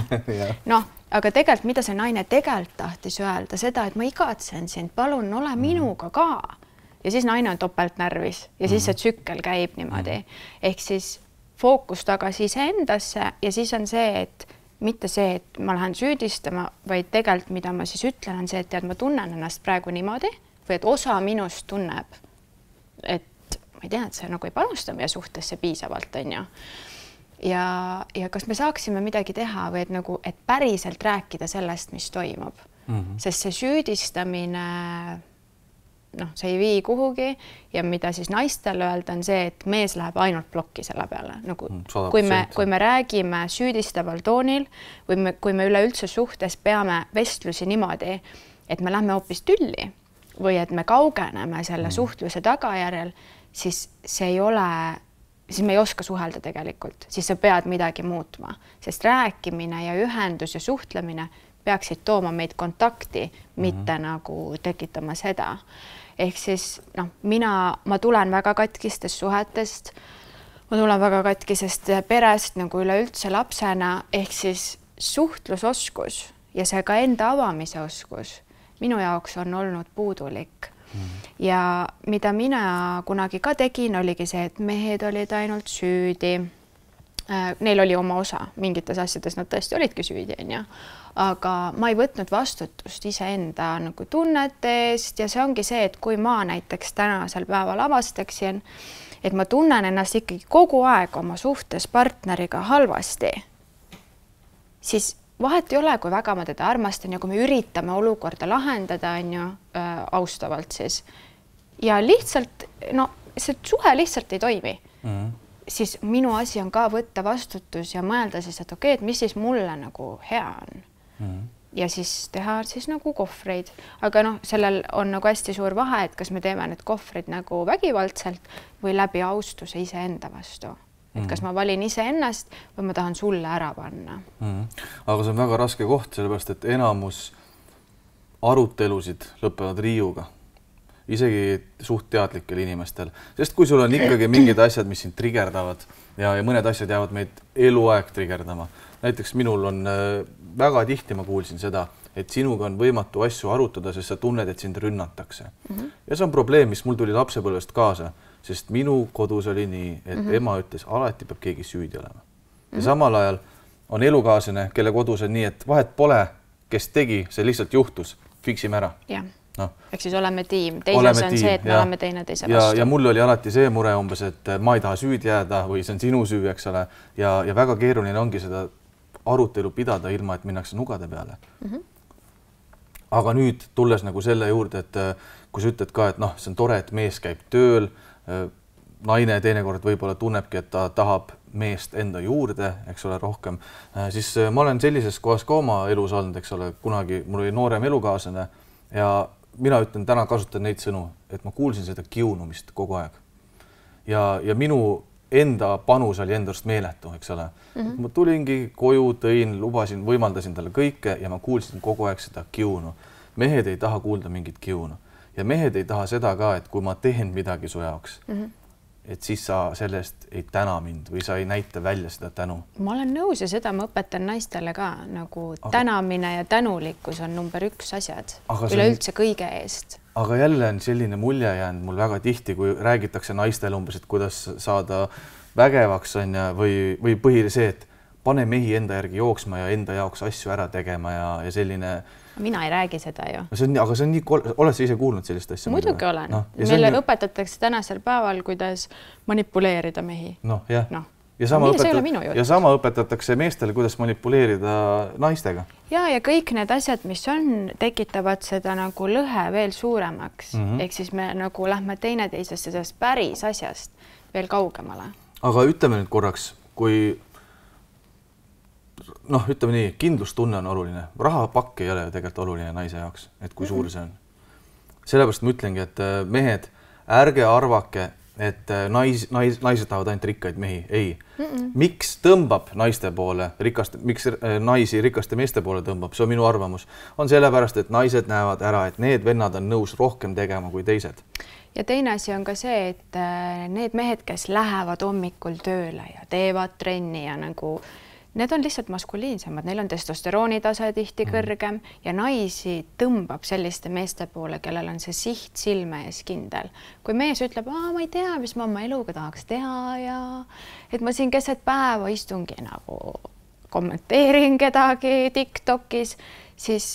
Noh, aga tegelikult, mida see naine tegelikult tahtis öelda, seda, et ma igatsen sind, palun ole minuga ka. Ja siis naine on topelt närvis ja siis see tsükkel käib niimoodi. Ehk siis fookus tagasi iseendasse ja siis on see, et mitte see, et ma lähen süüdistama, vaid tegelikult, mida ma siis ütlen, on see, et tead, ma tunnen ennast praegu niimoodi või et osa minust tunneb, et ma ei tea, et see nagu ei panusta meie suhtesse piisavalt, on ju. Ja, ja kas me saaksime midagi teha või et, nagu, et päriselt rääkida sellest, mis toimub. Mm -hmm. Sest see süüdistamine, noh, see ei vii kuhugi ja mida siis naistel öelda on see, et mees läheb ainult plokki selle peale. Nagu, kui, me, kui me räägime süüdistaval toonil või me, kui me üleüldse suhtes peame vestlusi niimoodi, et me lähme hoopis tülli või et me kaugeneme selle mm -hmm. suhtluse tagajärjel, siis see ei ole... siis me ei oska suhelda tegelikult, siis sa pead midagi muutma, sest rääkimine ja ühendus ja suhtlemine peaksid tooma meid kontakti, mitte mm -hmm. nagu tekitama seda. Ehk siis, noh, mina, ma tulen väga katkistest suhetest, ma tulen väga katkisest perest nagu üleüldse lapsena, ehk siis suhtlusoskus ja see ka enda avamise oskus minu jaoks on olnud puudulik. Ja mida mina kunagi ka tegin, oligi see, et mehed olid ainult süüdi. Neil oli oma osa, mingites asjades nad tõesti olidki süüdi, on ju. Aga ma ei võtnud vastutust iseenda nagu tunnete eest ja see ongi see, et kui ma näiteks tänasel päeval avastaksin, et ma tunnen ennast ikkagi kogu aeg oma suhtes partneriga halvasti, siis vahet ei ole, kui väga ma teda armastan ja kui me üritame olukorda lahendada, on ju, äh, austavalt siis. Ja lihtsalt, no see suhe lihtsalt ei toimi. Mm -hmm. Siis minu asi on ka võtta vastutus ja mõelda siis, et okei, et mis siis mulle nagu hea on. Mm -hmm. Ja siis teha siis nagu kohvreid. Aga noh, sellel on nagu hästi suur vahe, et kas me teeme need kohvrid nagu vägivaldselt või läbi austuse iseenda vastu. Et kas ma valin ise ennast või ma tahan sulle ära panna. Mm. Aga see on väga raske koht, sellepärast, et enamus arutelusid lõpevad riiuga. Isegi suht teadlikel inimestel. Sest kui sul on ikkagi mingid asjad, mis sind trigerdavad ja, ja mõned asjad jäävad meid eluaeg trigerdama. Näiteks minul on väga tihti, ma kuulsin seda, et sinuga on võimatu asju arutada, sest sa tunned, et sind rünnatakse. Mm-hmm. Ja see on probleem, mis mul tuli lapsepõlvest kaasa. Sest minu kodus oli nii, et mm -hmm. ema ütles, alati peab keegi süüdi olema. Ja mm -hmm. samal ajal on elukaaslane, kelle kodus on nii, et vahet pole, kes tegi, see lihtsalt juhtus, fiksime ära. Ja. No. Ehk siis oleme tiim. Teises on tiim, see, et me ja, oleme teine teise vastu. Ja, ja mul oli alati see mure umbes, et ma ei taha süüdi jääda või see on sinu süü, eks ole. Ja, ja väga keeruline ongi seda arutelu pidada ilma, et minnakse nugade peale. Mm -hmm. Aga nüüd tulles nagu selle juurde, et kui sa ütled ka, et noh, see on tore, et mees käib tööl, naine teinekord võib-olla tunnebki, et ta tahab meest enda juurde, eks ole, rohkem, siis ma olen sellises kohas ka oma elus olnud, eks ole, kunagi mul oli noorem elukaaslane ja mina ütlen, täna kasutan neid sõnu, et ma kuulsin seda kiunumist kogu aeg. Ja, ja minu enda panus oli enda arust meeletu, eks ole. Mm-hmm. Ma tulingi koju, tõin, lubasin, võimaldasin talle kõike ja ma kuulsin kogu aeg seda kiunu. Mehed ei taha kuulda mingit kiunu. Ja mehed ei taha seda ka, et kui ma teen midagi su jaoks, mm-hmm. et siis sa sellest ei täna mind või sa ei näita välja seda tänu. Ma olen nõus ja seda ma õpetan naistele ka, nagu aga... tänamine ja tänulikkus on number üks asjad üleüldse on... kõige eest. Aga jälle on selline mulje jäänud mul väga tihti, kui räägitakse naistele umbes, et kuidas saada vägevaks on ja, või, või põhile see, et pane mehi enda järgi jooksma ja enda jaoks asju ära tegema ja, ja selline... Mina ei räägi seda ju. See on, aga see on nii, oled sa ise kuulnud sellist asja? Muidugi olen. No, meile nii... õpetatakse tänasel päeval, kuidas manipuleerida mehi. Noh, jah. No. Ja, sama õpetat... ja sama õpetatakse meestele, kuidas manipuleerida naistega. Ja, ja kõik need asjad, mis on, tekitavad seda nagu lõhe veel suuremaks. Mm-hmm. Ehk siis me nagu lähme teineteisest sellest päris asjast veel kaugemale. Aga ütleme nüüd korraks, kui noh, ütleme nii, kindlustunne on oluline. Rahapakk ei ole tegelikult oluline naise jaoks, et kui suur see on. Sellepärast ma ütlengi, et mehed, ärge arvake, et nais, nais, naised tahavad ainult rikkaid mehi. Ei. Mm-mm. Miks tõmbab naiste poole, rikaste, miks naisi rikaste meeste poole tõmbab, see on minu arvamus, on sellepärast, et naised näevad ära, et need vennad on nõus rohkem tegema kui teised. Ja teine asi on ka see, et need mehed, kes lähevad hommikul tööle ja teevad trenni ja nagu need on lihtsalt maskuliinsemad, neil on testosterooni tase tihti kõrgem ja naisi tõmbab selliste meeste poole, kellel on see siht silme ees kindel. Kui mees ütleb, aa, ma ei tea, mis ma oma eluga tahaks teha ja et ma siin keset päeva istungi nagu kommenteerin kedagi TikTokis, siis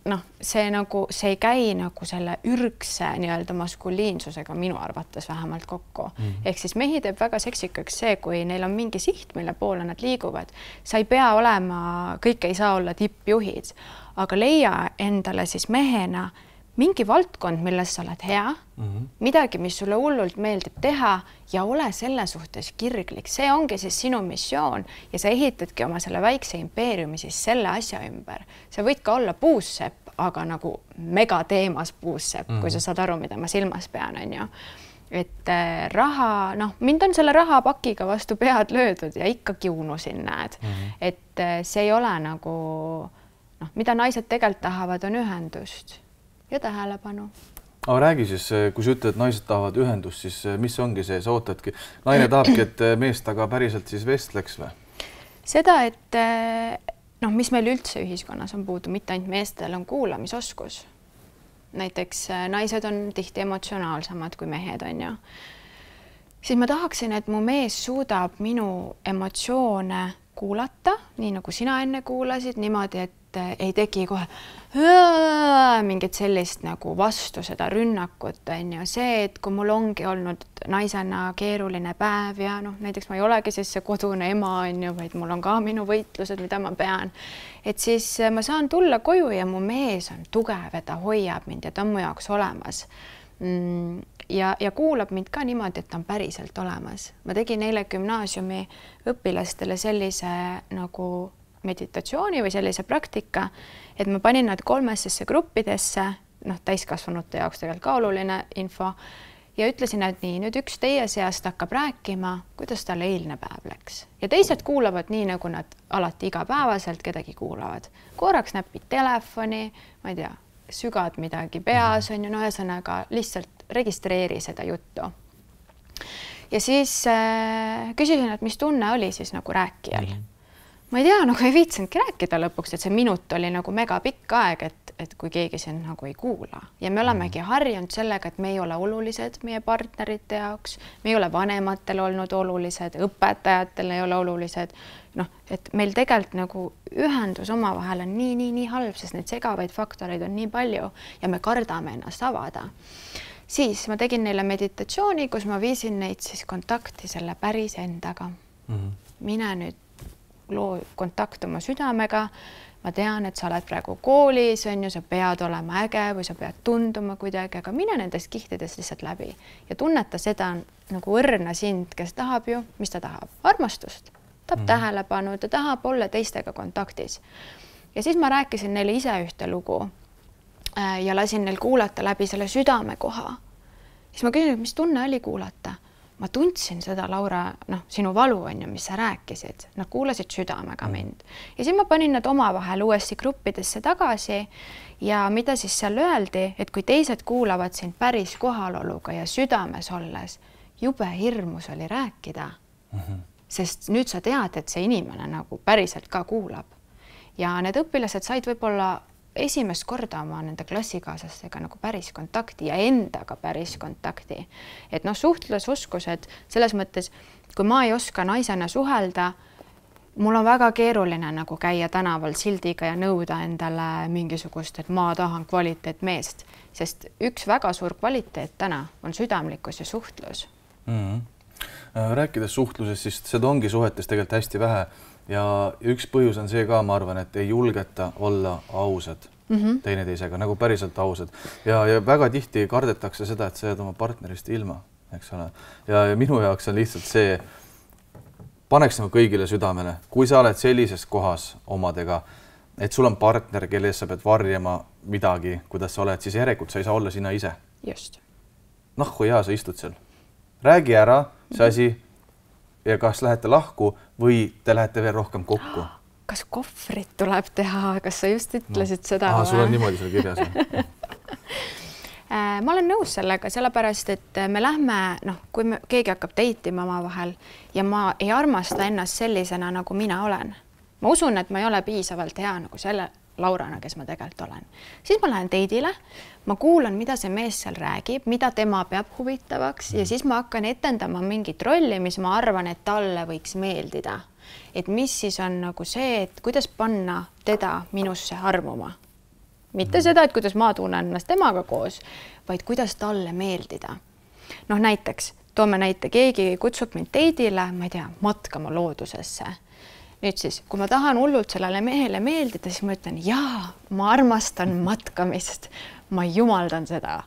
noh, see nagu, see ei käi nagu selle ürgse nii-öelda maskuliinsusega minu arvates vähemalt kokku. Mm-hmm. Ehk siis mehi teeb väga seksikaks see, kui neil on mingi siht, mille poole nad liiguvad. Sa ei pea olema, kõik ei saa olla tippjuhid, aga leia endale siis mehena mingi valdkond, milles sa oled hea, mm-hmm. midagi, mis sulle hullult meeldib teha ja ole selle suhtes kirglik. See ongi siis sinu missioon ja sa ehitadki oma selle väikse impeeriumi siis selle asja ümber. Sa võid ka olla puussepp, aga nagu megateemas puussepp, mm-hmm. kui sa saad aru, mida ma silmas pean, on ju. Et raha, noh, mind on selle rahapakiga vastu pead löödud ja ikka kiunusin näed. Mm-hmm. Et see ei ole nagu, noh, mida naised tegelikult tahavad, on ühendust. Ja tähelepanu. Aga räägi siis, kui sa ütled, et naised tahavad ühendust, siis mis ongi see, sa ootadki? Naine tahabki, et mees taga päriselt siis vestleks või? Seda, et noh, mis meil üldse ühiskonnas on puudu, mitte ainult meestel on kuulamisoskus. Näiteks naised on tihti emotsionaalsemad kui mehed on ju. Siis ma tahaksin, et mu mees suudab minu emotsioone kuulata, nii nagu sina enne kuulasid, niimoodi, et ei tegi kohe mingit sellist nagu vastu seda rünnakut on ju see, et kui mul ongi olnud naisena keeruline päev ja noh, näiteks ma ei olegi siis see kodune ema on ju, vaid mul on ka minu võitlused, mida ma pean, et siis ma saan tulla koju ja mu mees on tugev, et ta hoiab mind ja ta on mu jaoks olemas ja, ja kuulab mind ka niimoodi, et ta on päriselt olemas. Ma tegin eile gümnaasiumi õpilastele sellise nagu meditatsiooni või sellise praktika, et ma panin nad kolmessesse gruppidesse, noh, täiskasvanute jaoks tegelikult ka oluline info, ja ütlesin, et nii, nüüd üks teie seast hakkab rääkima, kuidas tal eilne päev läks. Ja teised kuulavad nii, nagu nad alati igapäevaselt kedagi kuulavad. Korraks näpid telefoni, ma ei tea, sügad midagi peas, on ju, no ühesõnaga lihtsalt registreeri seda juttu. Ja siis äh, küsisin, et mis tunne oli siis nagu rääkijal. Ma ei tea, nagu ei viitsinudki rääkida lõpuks, et see minut oli nagu mega pikk aeg, et, et kui keegi siin nagu ei kuula. Ja me olemegi harjunud sellega, et me ei ole olulised meie partnerite jaoks, me ei ole vanematel olnud olulised, õpetajatel ei ole olulised. Noh, et meil tegelikult nagu ühendus omavahel on nii, nii, nii halb, sest neid segavaid faktoreid on nii palju ja me kardame ennast avada. Siis ma tegin neile meditatsiooni, kus ma viisin neid siis kontakti selle päris endaga. Mm-hmm. Mine nüüd loo kontakt oma südamega, ma tean, et sa oled praegu koolis, on ju, sa pead olema äge või sa pead tunduma kuidagi, aga mine nendest kihtidest lihtsalt läbi ja tunneta seda nagu õrna sind, kes tahab ju, mis ta tahab, armastust, tahab mm. tähelepanu, ta tahab olla teistega kontaktis. Ja siis ma rääkisin neile ise ühte lugu ja lasin neil kuulata läbi selle südame koha. Siis ma küsin, mis tunne oli kuulata. Ma tundsin seda, Laura, noh, sinu valu on ju, mis sa rääkisid. Nad kuulasid südamega mind. Ja siis ma panin nad omavahel uuesti gruppidesse tagasi ja mida siis seal öeldi, et kui teised kuulavad sind päris kohaloluga ja südames olles, jube hirmus oli rääkida. Mm-hmm. Sest nüüd sa tead, et see inimene nagu päriselt ka kuulab. Ja need õpilased said võib-olla esimest korda oma nende klassikaaslastega nagu päris kontakti ja endaga päris kontakti. Et noh, suhtlusoskused selles mõttes, kui ma ei oska naisena suhelda, mul on väga keeruline nagu käia tänaval sildiga ja nõuda endale mingisugust, et ma tahan kvaliteet meest, sest üks väga suur kvaliteet täna on südamlikkus ja suhtlus. Mm-hmm. Rääkides suhtlusest, siis seda ongi suhetes tegelikult hästi vähe. Ja üks põhjus on see ka, ma arvan, et ei julgeta olla ausad mm -hmm. teineteisega, nagu päriselt ausad. Ja, ja väga tihti kardetakse seda, et sa jääd oma partnerist ilma, eks ole. Ja, ja minu jaoks on lihtsalt see, paneks nagu kõigile südamele, kui sa oled sellises kohas omadega, et sul on partner, kelle ees sa pead varjama midagi, kuidas sa oled, siis järelikult sa ei saa olla sina ise. Just. Noh, kui hea sa istud seal. Räägi ära see asi ja kas lähete lahku või te lähete veel rohkem kokku? Kas kohvrit tuleb teha? Kas sa just ütlesid no. seda? Aha, sul on niimoodi seal kirjas. Ma olen nõus sellega, sellepärast, et me lähme, noh, kui me, keegi hakkab deitima oma vahel ja ma ei armasta ennast sellisena, nagu mina olen. Ma usun, et ma ei ole piisavalt hea nagu selle Laurana, kes ma tegelikult olen. Siis ma lähen deidile, ma kuulan, mida see mees seal räägib, mida tema peab huvitavaks ja siis ma hakkan etendama mingit rolli, mis ma arvan, et talle võiks meeldida. Et mis siis on nagu see, et kuidas panna teda minusse armuma. Mitte seda, et kuidas ma tunnen ennast temaga koos, vaid kuidas talle meeldida. Noh, näiteks, toome näite, keegi kutsub mind deidile, ma ei tea, matkama loodusesse. Nüüd siis, kui ma tahan hullult sellele mehele meeldida, siis ma ütlen, jaa, ma armastan matkamist, ma jumaldan seda.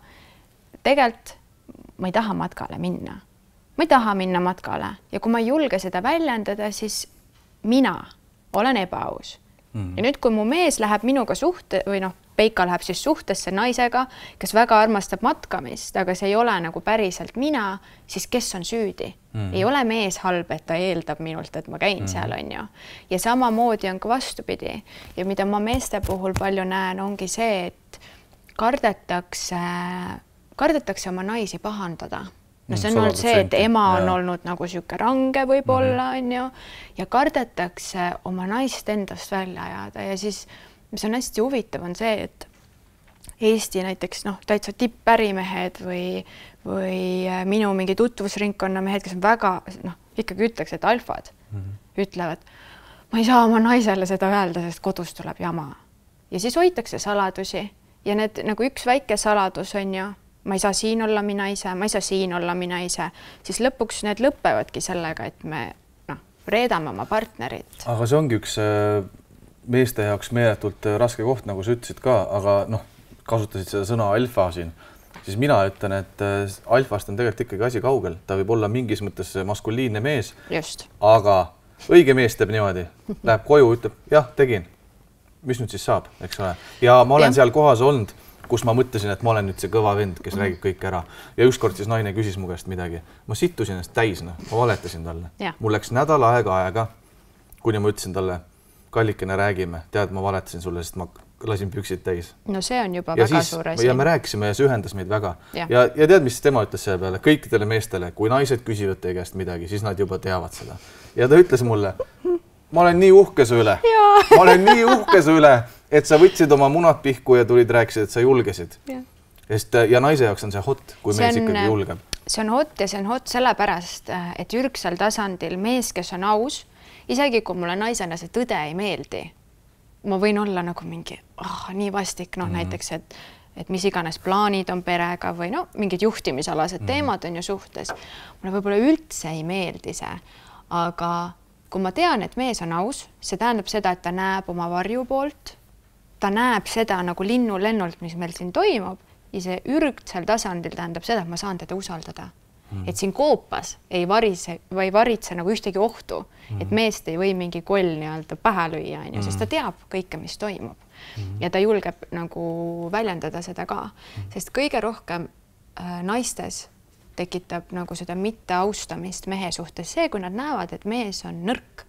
Tegelikult ma ei taha matkale minna. Ma ei taha minna matkale ja kui ma ei julge seda väljendada, siis mina olen ebaaus. Mm. Ja nüüd, kui mu mees läheb minuga suhte või noh, Peika läheb siis suhtesse naisega, kes väga armastab matkamist, aga see ei ole nagu päriselt mina, siis kes on süüdi? Mm. Ei ole mees halb, et ta eeldab minult, et ma käin mm. seal, on ju. Ja samamoodi on ka vastupidi. Ja mida ma meeste puhul palju näen, ongi see, et kardetakse, kardetakse oma naisi pahandada. No see on olnud see, et ema on ja. olnud nagu siuke range võib-olla, on ju, ja kardetakse oma naist endast välja ajada ja siis mis on hästi huvitav, on see, et Eesti näiteks noh, täitsa tippärimehed või, või minu mingi tutvusringkonna mehed, kes on väga, noh, ikkagi ütleks, et alfad mm -hmm. ütlevad, ma ei saa oma naisele seda öelda, sest kodus tuleb jama. Ja siis hoitakse saladusi ja need nagu üks väike saladus on ju, ma ei saa siin olla mina ise, ma ei saa siin olla mina ise, siis lõpuks need lõppevadki sellega, et me noh, reedame oma partnerit. Aga see ongi üks meeste jaoks meeletult raske koht, nagu sa ütlesid ka, aga noh, kasutasid seda sõna alfa siin, siis mina ütlen, et alfast on tegelikult ikkagi asi kaugel. Ta võib olla mingis mõttes maskuliinne mees, Just. aga õige mees teeb niimoodi, läheb koju, ütleb, jah, tegin. Mis nüüd siis saab, eks ole? Ja ma olen ja. seal kohas olnud, kus ma mõtlesin, et ma olen nüüd see kõva vend, kes mm. räägib kõik ära. Ja ükskord siis naine küsis mu käest midagi. Ma sittusin ennast täis, no. ma valetasin talle. Ja. Mul läks nädal aega aega, kuni ma ütlesin talle, kallikene räägime, tead, ma valetasin sulle, sest ma lasin püksid täis. No see on juba ja väga siis, suur asi. Ja me rääkisime ja see ühendas meid väga. Ja, ja, ja tead, mis tema ütles selle peale? Kõikidele meestele, kui naised küsivad teie käest midagi, siis nad juba teavad seda. Ja ta ütles mulle, ma olen nii uhke su üle. Ma olen nii uhke su üle, et sa võtsid oma munad pihku ja tulid rääkisid, et sa julgesid. Ja, Sest, ja naise jaoks on see hot, kui see mees on, ikkagi julgeb. See on hot ja see on hot sellepärast, et ürgsel tasandil mees, kes on aus, isegi kui mulle naisena see tõde ei meeldi, ma võin olla nagu mingi oh, nii vastik, noh mm -hmm. näiteks, et, et mis iganes plaanid on perega või no, mingid juhtimisalased mm -hmm. teemad on ju suhtes. Mulle võib-olla üldse ei meeldi see, aga kui ma tean, et mees on aus, see tähendab seda, et ta näeb oma varju poolt, ta näeb seda nagu linnu lennult, mis meil siin toimub ja see ürgsel tasandil tähendab seda, et ma saan teda usaldada. Mm. Et siin koopas ei varise või varitse nagu ühtegi ohtu, mm. et meest ei või mingi koll nii-öelda pähe lüüa, mm. sest ta teab kõike, mis toimub. Mm. Ja ta julgeb nagu väljendada seda ka, mm. sest kõige rohkem äh, naistes tekitab nagu seda mitteaustamist mehe suhtes see, kui nad näevad, et mees on nõrk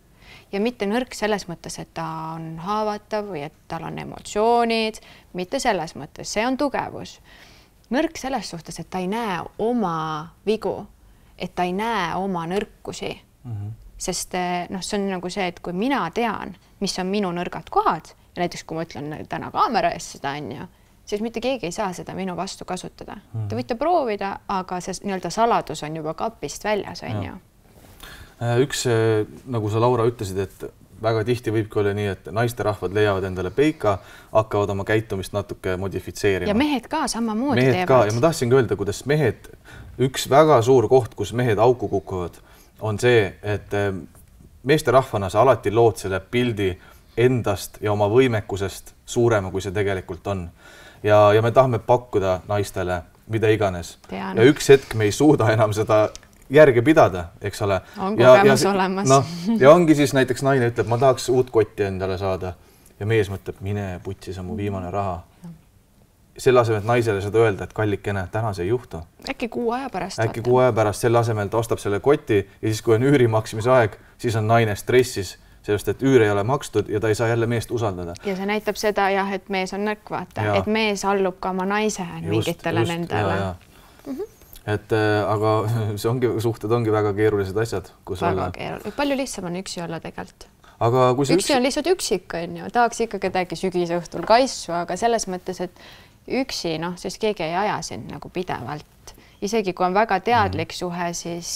ja mitte nõrk selles mõttes, et ta on haavatav või et tal on emotsioonid, mitte selles mõttes, see on tugevus. Nõrk selles suhtes, et ta ei näe oma vigu, et ta ei näe oma nõrkusi. Mm-hmm. Sest noh, see on nagu see, et kui mina tean, mis on minu nõrgad kohad ja näiteks kui ma ütlen täna kaamera ees seda on ju, siis mitte keegi ei saa seda minu vastu kasutada. Mm-hmm. Te võite proovida, aga see nii-öelda saladus on juba kapist väljas on ju. Üks, nagu sa Laura ütlesid, et väga tihti võibki olla nii, et naisterahvad leiavad endale peika, hakkavad oma käitumist natuke modifitseerima. Ja mehed ka samamoodi mehed teevad. Ka. Ja ma tahtsingi öelda, kuidas mehed, üks väga suur koht, kus mehed auku kukuvad, on see, et meesterahvana sa alati lood selle pildi endast ja oma võimekusest suurema, kui see tegelikult on. Ja, ja me tahame pakkuda naistele mida iganes. Tean. Ja üks hetk me ei suuda enam seda järge pidada, eks ole. On kogemus ja, olemas. No, ja ongi siis näiteks naine ütleb, ma tahaks uut kotti endale saada ja mees mõtleb, mine putsi, see on mu viimane raha. Selle asemel, et naisele seda öelda, et kallikene, täna see ei juhtu. Äkki kuu aja pärast. Äkki kuu aja pärast selle asemel ta ostab selle koti ja siis, kui on üüri maksimise aeg, siis on naine stressis, sellest, et üür ei ole makstud ja ta ei saa jälle meest usaldada. Ja see näitab seda, jah, et mees on nõrk, vaata, ja. Et mees allub ka oma naise mingitele just, nendele. Ja, ja. Mm-hmm. Et äh, aga see ongi, suhted ongi väga keerulised asjad, kus väga olla. Keerulised. Palju lihtsam on üksi olla tegelikult. Aga kui see üksi, üksi on lihtsalt üksik, on ju. Tahaks ikka kedagi sügisõhtul kaissu, aga selles mõttes, et üksi, noh, sest keegi ei aja sind nagu pidevalt. Isegi kui on väga teadlik mm. suhe, siis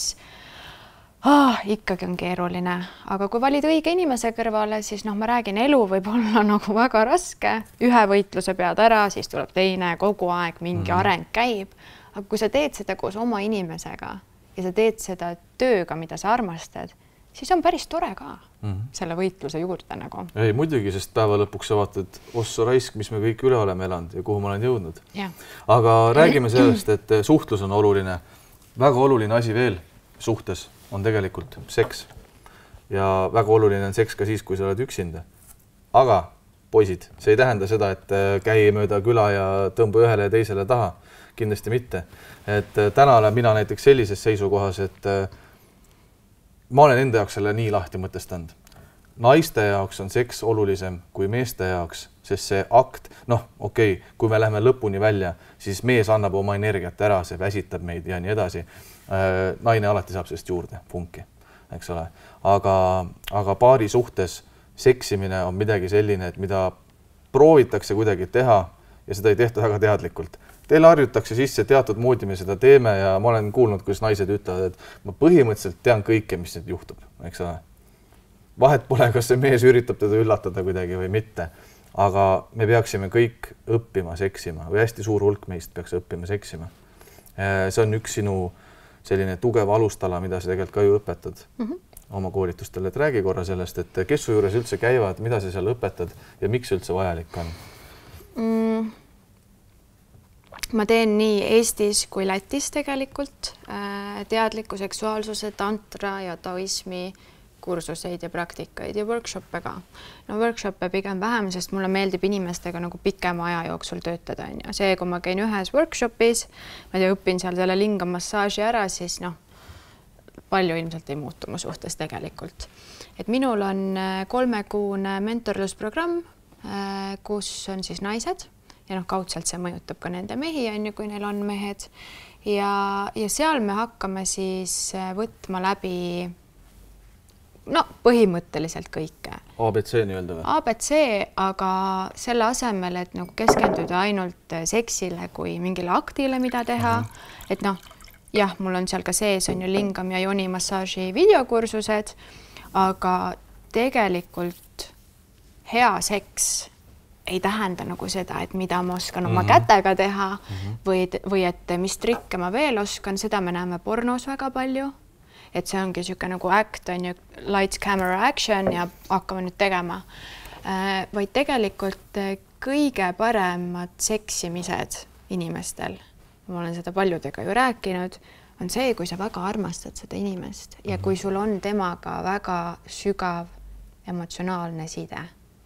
ah, ikkagi on keeruline. Aga kui valid õige inimese kõrvale, siis noh, ma räägin, elu võib olla nagu väga raske. Ühe võitluse pead ära, siis tuleb teine, kogu aeg mingi mm. areng käib. Aga kui sa teed seda koos oma inimesega ja sa teed seda tööga, mida sa armastad, siis on päris tore ka mm-hmm. selle võitluse juurde nagu. Ei, muidugi, sest päeva lõpuks sa vaatad ossa raisk, mis me kõik üle oleme elanud ja kuhu ma olen jõudnud. Ja. Aga räägime sellest, et suhtlus on oluline. Väga oluline asi veel suhtes on tegelikult seks. Ja väga oluline on seks ka siis, kui sa oled üksinda. Aga poisid, see ei tähenda seda, et käi mööda küla ja tõmba ühele ja teisele taha. Kindlasti mitte. Et täna olen mina näiteks sellises seisukohas, et ma olen enda jaoks selle nii lahti mõtestanud. Naiste jaoks on seks olulisem kui meeste jaoks, sest see akt, noh, okei, okay, kui me läheme lõpuni välja, siis mees annab oma energiat ära, see väsitab meid ja nii edasi. Naine alati saab sellest juurde, punki, eks ole. Aga, aga paari suhtes seksimine on midagi selline, et mida proovitakse kuidagi teha ja seda ei tehta väga teadlikult. Teile harjutakse sisse teatud moodi me seda teeme ja ma olen kuulnud, kuidas naised ütlevad, et ma põhimõtteliselt tean kõike, mis nüüd juhtub, eks ole. Vahet pole, kas see mees üritab teda üllatada kuidagi või mitte, aga me peaksime kõik õppima seksima või hästi suur hulk meist peaks õppima seksima. See on üks sinu selline tugev alustala, mida sa tegelikult ka ju õpetad mm-hmm. oma koolitustele. Et räägi korra sellest, et kes su juures üldse käivad, mida sa seal õpetad ja miks üldse vajalik on? Mm. Ma teen nii Eestis kui Lätis tegelikult teadliku seksuaalsuse, tantra ja taoismi kursuseid ja praktikaid ja workshoppe ka. No workshoppe pigem vähem, sest mulle meeldib inimestega nagu pikema aja jooksul töötada. Ja see, kui ma käin ühes workshopis, ma tea, õpin seal selle lingamassaaži ära, siis noh, palju ilmselt ei muutu mu suhtes tegelikult. Et minul on kolmekuune mentorlusprogramm, kus on siis naised, ja noh, kaudselt see mõjutab ka nende mehi, on ju, kui neil on mehed. Ja, ja seal me hakkame siis võtma läbi no, põhimõtteliselt kõike. A B C nii-öelda või? A B C, aga selle asemel, et nagu keskenduda ainult seksile kui mingile aktile, mida teha. Mm-hmm. Et noh, jah, mul on seal ka sees on ju lingam ja joni massaaži videokursused, aga tegelikult hea seks ei tähenda nagu seda, et mida ma oskan oma mm-hmm. kätega teha mm-hmm. või, või et mis trikke ma veel oskan, seda me näeme pornos väga palju. et see ongi niisugune nagu act on ju, lights, camera, action ja hakkame nüüd tegema. Vaid tegelikult kõige paremad seksimised inimestel, ma olen seda paljudega ju rääkinud, on see, kui sa väga armastad seda inimest ja kui sul on temaga väga sügav emotsionaalne side,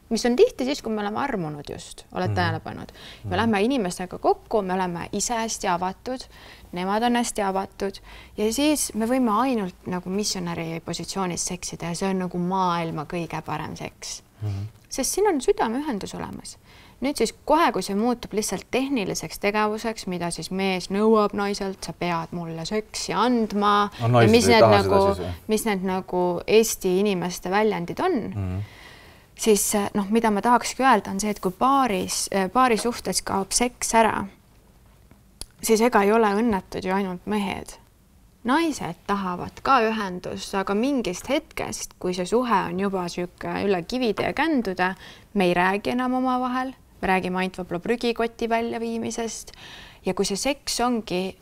mis on tihti siis, kui me oleme armunud just, oled tähele pannud. Me lähme inimestega kokku, me oleme ise hästi avatud, nemad on hästi avatud ja siis me võime ainult nagu missionäri positsioonis seksida ja see on nagu maailma kõige parem seks. Mm-hmm. Sest siin on südameühendus olemas. Nüüd siis kohe, kui see muutub lihtsalt tehniliseks tegevuseks, mida siis mees nõuab naiselt, sa pead mulle seksi andma no, ja mis need, nagu, mis need nagu Eesti inimeste väljendid on, mm-hmm. siis noh, mida ma tahakski öelda on see, et kui paaris, paari suhtes kaob seks ära, siis ega ei ole õnnetud ju ainult mehed. Naised tahavad ka ühendust, aga mingist hetkest, kui see suhe on juba süke üle kivide ja känduda, me ei räägi enam oma vahel, me räägime ainult võib-olla prügikoti väljaviimisest ja kui see seks ongi,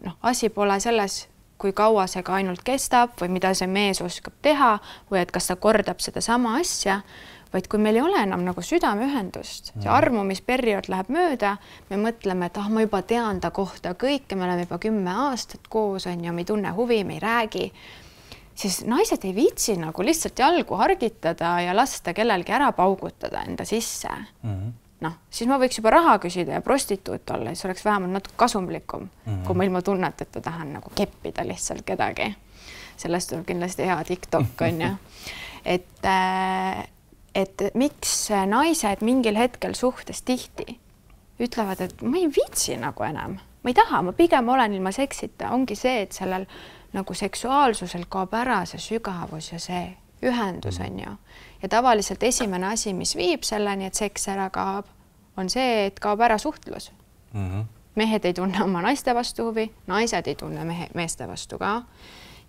noh, asi pole selles, kui kaua see ka ainult kestab või mida see mees oskab teha või et kas ta kordab seda sama asja, vaid kui meil ei ole enam nagu südameühendust, see armumisperiood läheb mööda, me mõtleme, et ah, ma juba tean ta kohta kõike, me oleme juba kümme aastat koos, on ju, me ei tunne huvi, me ei räägi, siis naised ei viitsi nagu lihtsalt jalgu hargitada ja lasta kellelgi ära paugutada enda sisse. Mm-hmm. Noh, siis ma võiks juba raha küsida ja prostituut olla, siis oleks vähemalt natuke kasumlikum, mm-hmm. kui ma ilma tunnet, et ta tahan nagu keppida lihtsalt kedagi. Sellest tuleb kindlasti hea TikTok, on ju. Et äh, et miks naised mingil hetkel suhtes tihti ütlevad, et ma ei viitsi nagu enam, ma ei taha, ma pigem olen ilma seksita, ongi see, et sellel nagu seksuaalsusel kaob ära see sügavus ja see ühendus on ju. Ja tavaliselt esimene asi, mis viib selleni, et seks ära kaob, on see, et kaob ära suhtlus. Mm-hmm. Mehed ei tunne oma naiste vastu huvi, naised ei tunne mehe, meeste vastu ka.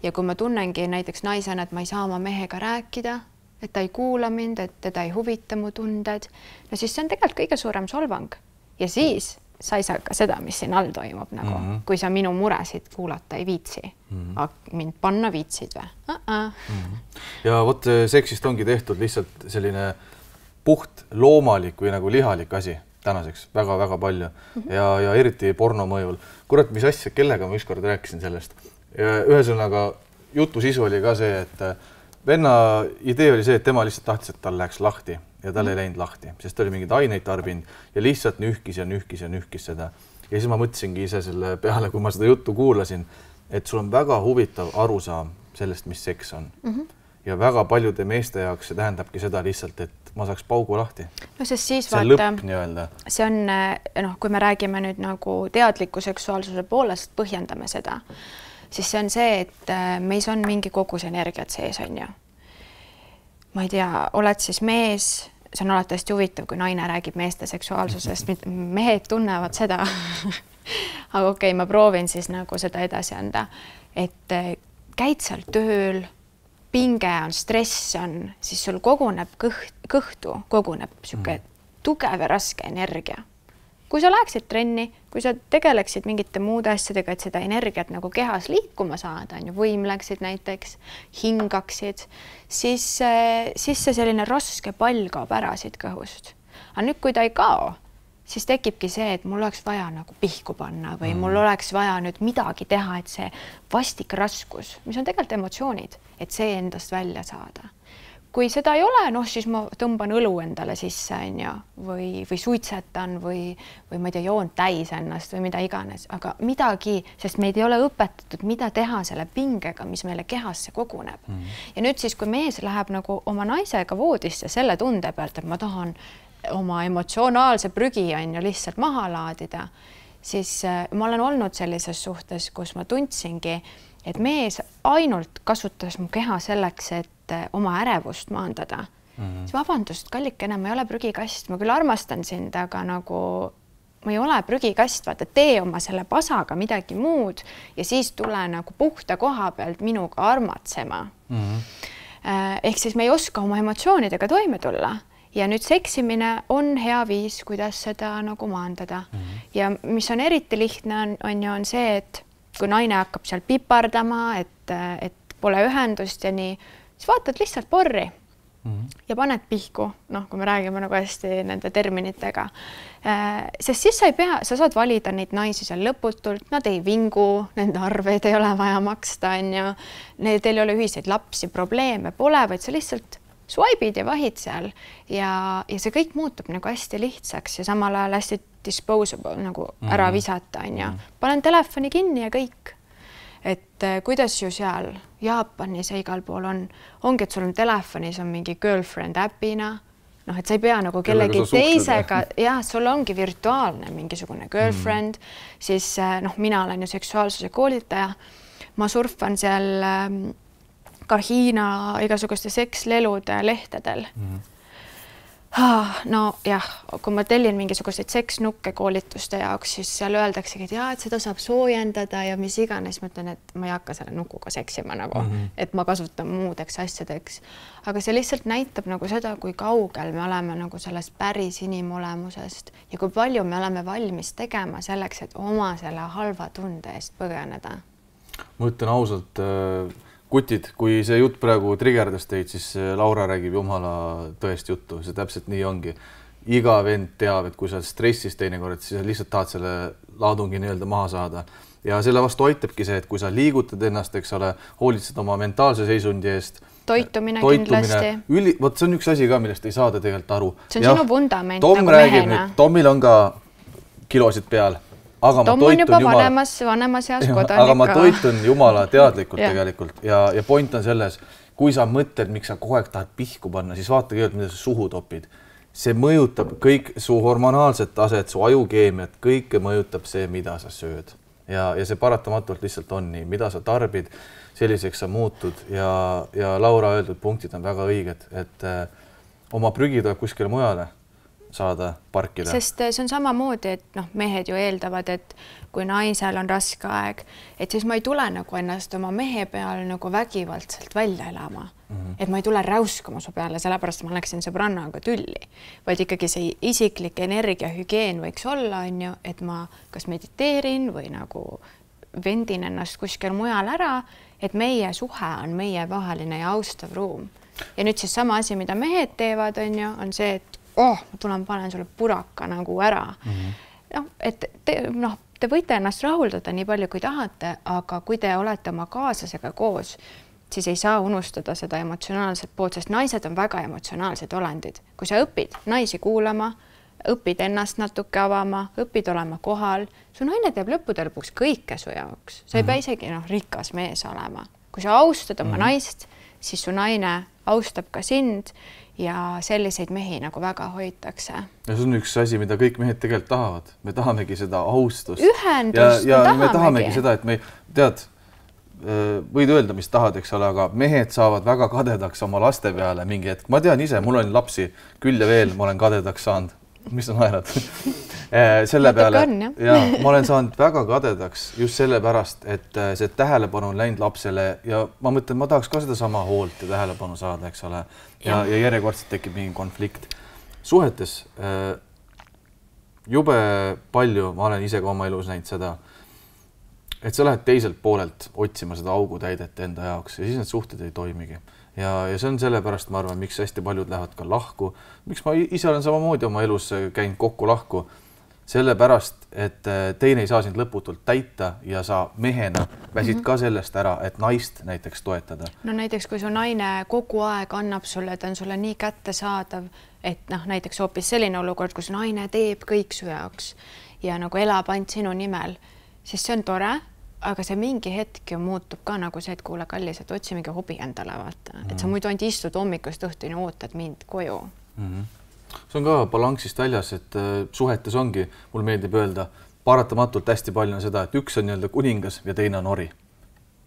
Ja kui ma tunnengi näiteks naisena, et ma ei saa oma mehega rääkida, et ta ei kuula mind, et teda ei huvita mu tunded, no siis see on tegelikult kõige suurem solvang. Ja siis sa ei saa ka seda, mis siin all toimub, nagu, mm-hmm. kui sa minu muresid kuulata ei viitsi. Mm-hmm. Aga mind panna viitsid või? Uh-uh. Mm-hmm. Ja vot seksist ongi tehtud lihtsalt selline puht loomalik või nagu lihalik asi tänaseks väga-väga palju. Mm-hmm. Ja, ja eriti porno mõjul. Kurat, mis asja, kellega ma ükskord rääkisin sellest. Ja ühesõnaga jutu sisu oli ka see, et venna idee oli see, et tema lihtsalt tahtis, et tal läheks lahti ja tal ei läinud lahti, sest ta oli mingeid aineid tarbinud ja lihtsalt nühkis ja nühkis ja nühkis seda. Ja siis ma mõtlesingi ise selle peale, kui ma seda juttu kuulasin, et sul on väga huvitav arusaam sellest, mis seks on. Mm-hmm. Ja väga paljude meeste jaoks see tähendabki seda lihtsalt, et ma saaks paugu lahti. No sest siis see on vaata, lõpp nii-öelda. See on, noh, kui me räägime nüüd nagu teadliku seksuaalsuse poolest, põhjendame seda, siis see on see, et meis on mingi kogus energiat sees, on ju. Ma ei tea, oled siis mees, see on alati hästi huvitav, kui naine räägib meeste seksuaalsusest, mehed tunnevad seda. Aga okei, ma proovin siis nagu seda edasi anda, et käid seal tööl, pinge on, stress on, siis sul koguneb kõht, kõhtu, koguneb siuke tugev ja raske energia. Kui sa läheksid trenni, kui sa tegeleksid mingite muude asjadega, et seda energiat nagu kehas liikuma saada, on ju, võimleksid näiteks, hingaksid, siis, siis see selline raske pall kaob ära siit kõhust. Aga nüüd, kui ta ei kao, siis tekibki see, et mul oleks vaja nagu pihku panna või mm. mul oleks vaja nüüd midagi teha, et see vastik raskus, mis on tegelikult emotsioonid, et see endast välja saada. Kui seda ei ole, noh, siis ma tõmban õlu endale sisse, on ju, või, või suitsetan või, või ma ei tea, joon täis ennast või mida iganes, aga midagi, sest meid ei ole õpetatud, mida teha selle pingega, mis meile kehasse koguneb. Mm. Ja nüüd siis, kui mees läheb nagu oma naisega voodisse selle tunde pealt, et ma tahan oma emotsionaalse prügi on ju lihtsalt maha laadida, siis ma olen olnud sellises suhtes, kus ma tundsingi, et mees ainult kasutas mu keha selleks, et oma ärevust maandada. Mm-hmm. See vabandust, kallikene, ma ei ole prügikast, ma küll armastan sind, aga nagu ma ei ole prügikast, vaata, tee oma selle pasaga midagi muud ja siis tule nagu puhta koha pealt minuga armatsema. Mm-hmm. Ehk siis me ei oska oma emotsioonidega toime tulla ja nüüd seksimine on hea viis, kuidas seda nagu maandada. Mm-hmm. Ja mis on eriti lihtne on, on ju on see, et kui naine hakkab seal pipardama, et, et pole ühendust ja nii, siis vaatad lihtsalt porri mm -hmm. ja paned pihku, noh, kui me räägime nagu hästi nende terminitega. Sest siis sa ei pea, sa saad valida neid naisi seal lõputult, nad ei vingu, nende arveid ei ole vaja maksta, on ju. Teil ei ole ühiseid lapsi, probleeme pole, vaid sa lihtsalt swipe'id ja vahid seal ja, ja see kõik muutub nagu hästi lihtsaks ja samal ajal hästi disposable nagu ära mm -hmm. visata, on ju. Panen telefoni kinni ja kõik. Et kuidas ju seal Jaapanis ja igal pool on, ongi, et sul on telefonis on mingi girlfriend äpina, noh, et sa ei pea nagu kellegi teisega, jah, sul ongi virtuaalne mingisugune girlfriend, mm. siis noh, mina olen ju seksuaalsuse koolitaja, ma surfan seal ka Hiina igasuguste sekslelude lehtedel. Mm. No jah, kui ma tellin mingisuguseid seksnukke koolituste jaoks, siis seal öeldaksegi, et jaa, et seda saab soojendada ja mis iganes, ma ütlen, et ma ei hakka selle nukuga seksima nagu, mm -hmm. et ma kasutan muudeks asjadeks. Aga see lihtsalt näitab nagu seda, kui kaugel me oleme nagu sellest päris inimolemusest ja kui palju me oleme valmis tegema selleks, et oma selle halva tunde eest põgeneda. Ma ütlen ausalt, kutid, kui see jutt praegu trigerdas teid, siis Laura räägib jumala tõest juttu, see täpselt nii ongi. Iga vend teab, et kui sa stressis teinekord, siis sa lihtsalt tahad selle laadungi nii-öelda maha saada. Ja selle vastu aitabki see, et kui sa liigutad ennast, eks ole, hoolitsed oma mentaalse seisundi eest. Toitumine, toitumine kindlasti. Üli, võt, see on üks asi ka, millest ei saada tegelikult aru. See on ja, sinu vundament Tom nagu räägib mehena. Nüüd, Tomil on ka kilosid peal. Aga Tom on juba jumala... vanemas, vanemas heas kodanik. Aga ma toitun jumala teadlikult tegelikult ja, ja point on selles, kui sa mõtled, miks sa kogu aeg tahad pihku panna, siis vaata kõigepealt, mida sa suhu topid. See mõjutab kõik su hormonaalset taset, su ajukeemiat, kõike mõjutab see, mida sa sööd. Ja, ja see paratamatult lihtsalt on nii, mida sa tarbid, selliseks sa muutud ja, ja Laura öeldud punktid on väga õiged, et äh, oma prügi tuleb kuskile mujale saada parkida. Sest see on samamoodi, et noh, mehed ju eeldavad, et kui naisel on raske aeg, et siis ma ei tule nagu ennast oma mehe peale nagu vägivaldselt välja elama. Mm -hmm. Et ma ei tule räuskama su peale, sellepärast ma läksin sõbrannaga tülli, vaid ikkagi see isiklik energiahügieen võiks olla, on ju, et ma kas mediteerin või nagu vendin ennast kuskil mujal ära, et meie suhe on meie vaheline ja austav ruum. Ja nüüd siis sama asi, mida mehed teevad, on ju, on see, et oh, ma tulen, panen sulle puraka nagu ära. Mm -hmm. No, et te, noh, te võite ennast rahuldada nii palju, kui tahate, aga kui te olete oma kaaslasega koos, siis ei saa unustada seda emotsionaalset poolt, sest naised on väga emotsionaalsed olendid. Kui sa õpid naisi kuulama, õpid ennast natuke avama, õpid olema kohal, su naine teeb lõppude lõpuks kõike su jaoks. Sa ei mm -hmm. pea isegi noh, rikas mees olema. Kui sa austad oma mm -hmm. naist, siis su naine austab ka sind ja selliseid mehi nagu väga hoitakse. Ja see on üks asi, mida kõik mehed tegelikult tahavad. Me tahamegi seda austust. Ühendust ja, ja me tahamegi. Me tahamegi seda, et me, tead, võid öelda, mis tahad, eks ole, aga mehed saavad väga kadedaks oma laste peale mingi hetk. Ma tean ise, mul on lapsi küll ja veel, ma olen kadedaks saanud. Mis on naerad? selle peale, ja ma olen saanud väga kadedaks just sellepärast, et see tähelepanu on läinud lapsele ja ma mõtlen, ma tahaks ka seda sama hoolt ja tähelepanu saada, eks ole. Ja, ja järjekordselt tekib mingi konflikt. Suhetes jube palju, ma olen ise ka oma elus näinud seda, et sa lähed teiselt poolelt otsima seda augutäidet enda jaoks ja siis need suhted ei toimigi. Ja, ja see on sellepärast, ma arvan, miks hästi paljud lähevad ka lahku. Miks ma ise olen samamoodi oma elus käinud kokku lahku. Sellepärast, et teine ei saa sind lõputult täita ja sa mehena väsid mm -hmm. ka sellest ära, et naist näiteks toetada. No näiteks, kui su naine kogu aeg annab sulle, ta on sulle nii kättesaadav, et noh, näiteks hoopis selline olukord, kus naine teeb kõik su jaoks ja nagu elab ainult sinu nimel, siis see on tore. Aga see mingi hetk ju muutub ka nagu see, et kuule kallis, et otsi mingi hobi endale vaata. Mm -hmm. Et sa muidu ainult istud hommikust õhtuni, ootad mind koju. Mm -hmm. See on ka balansist väljas, et uh, suhetes ongi, mul meeldib öelda, paratamatult hästi palju on seda, et üks on nii-öelda kuningas ja teine on ori.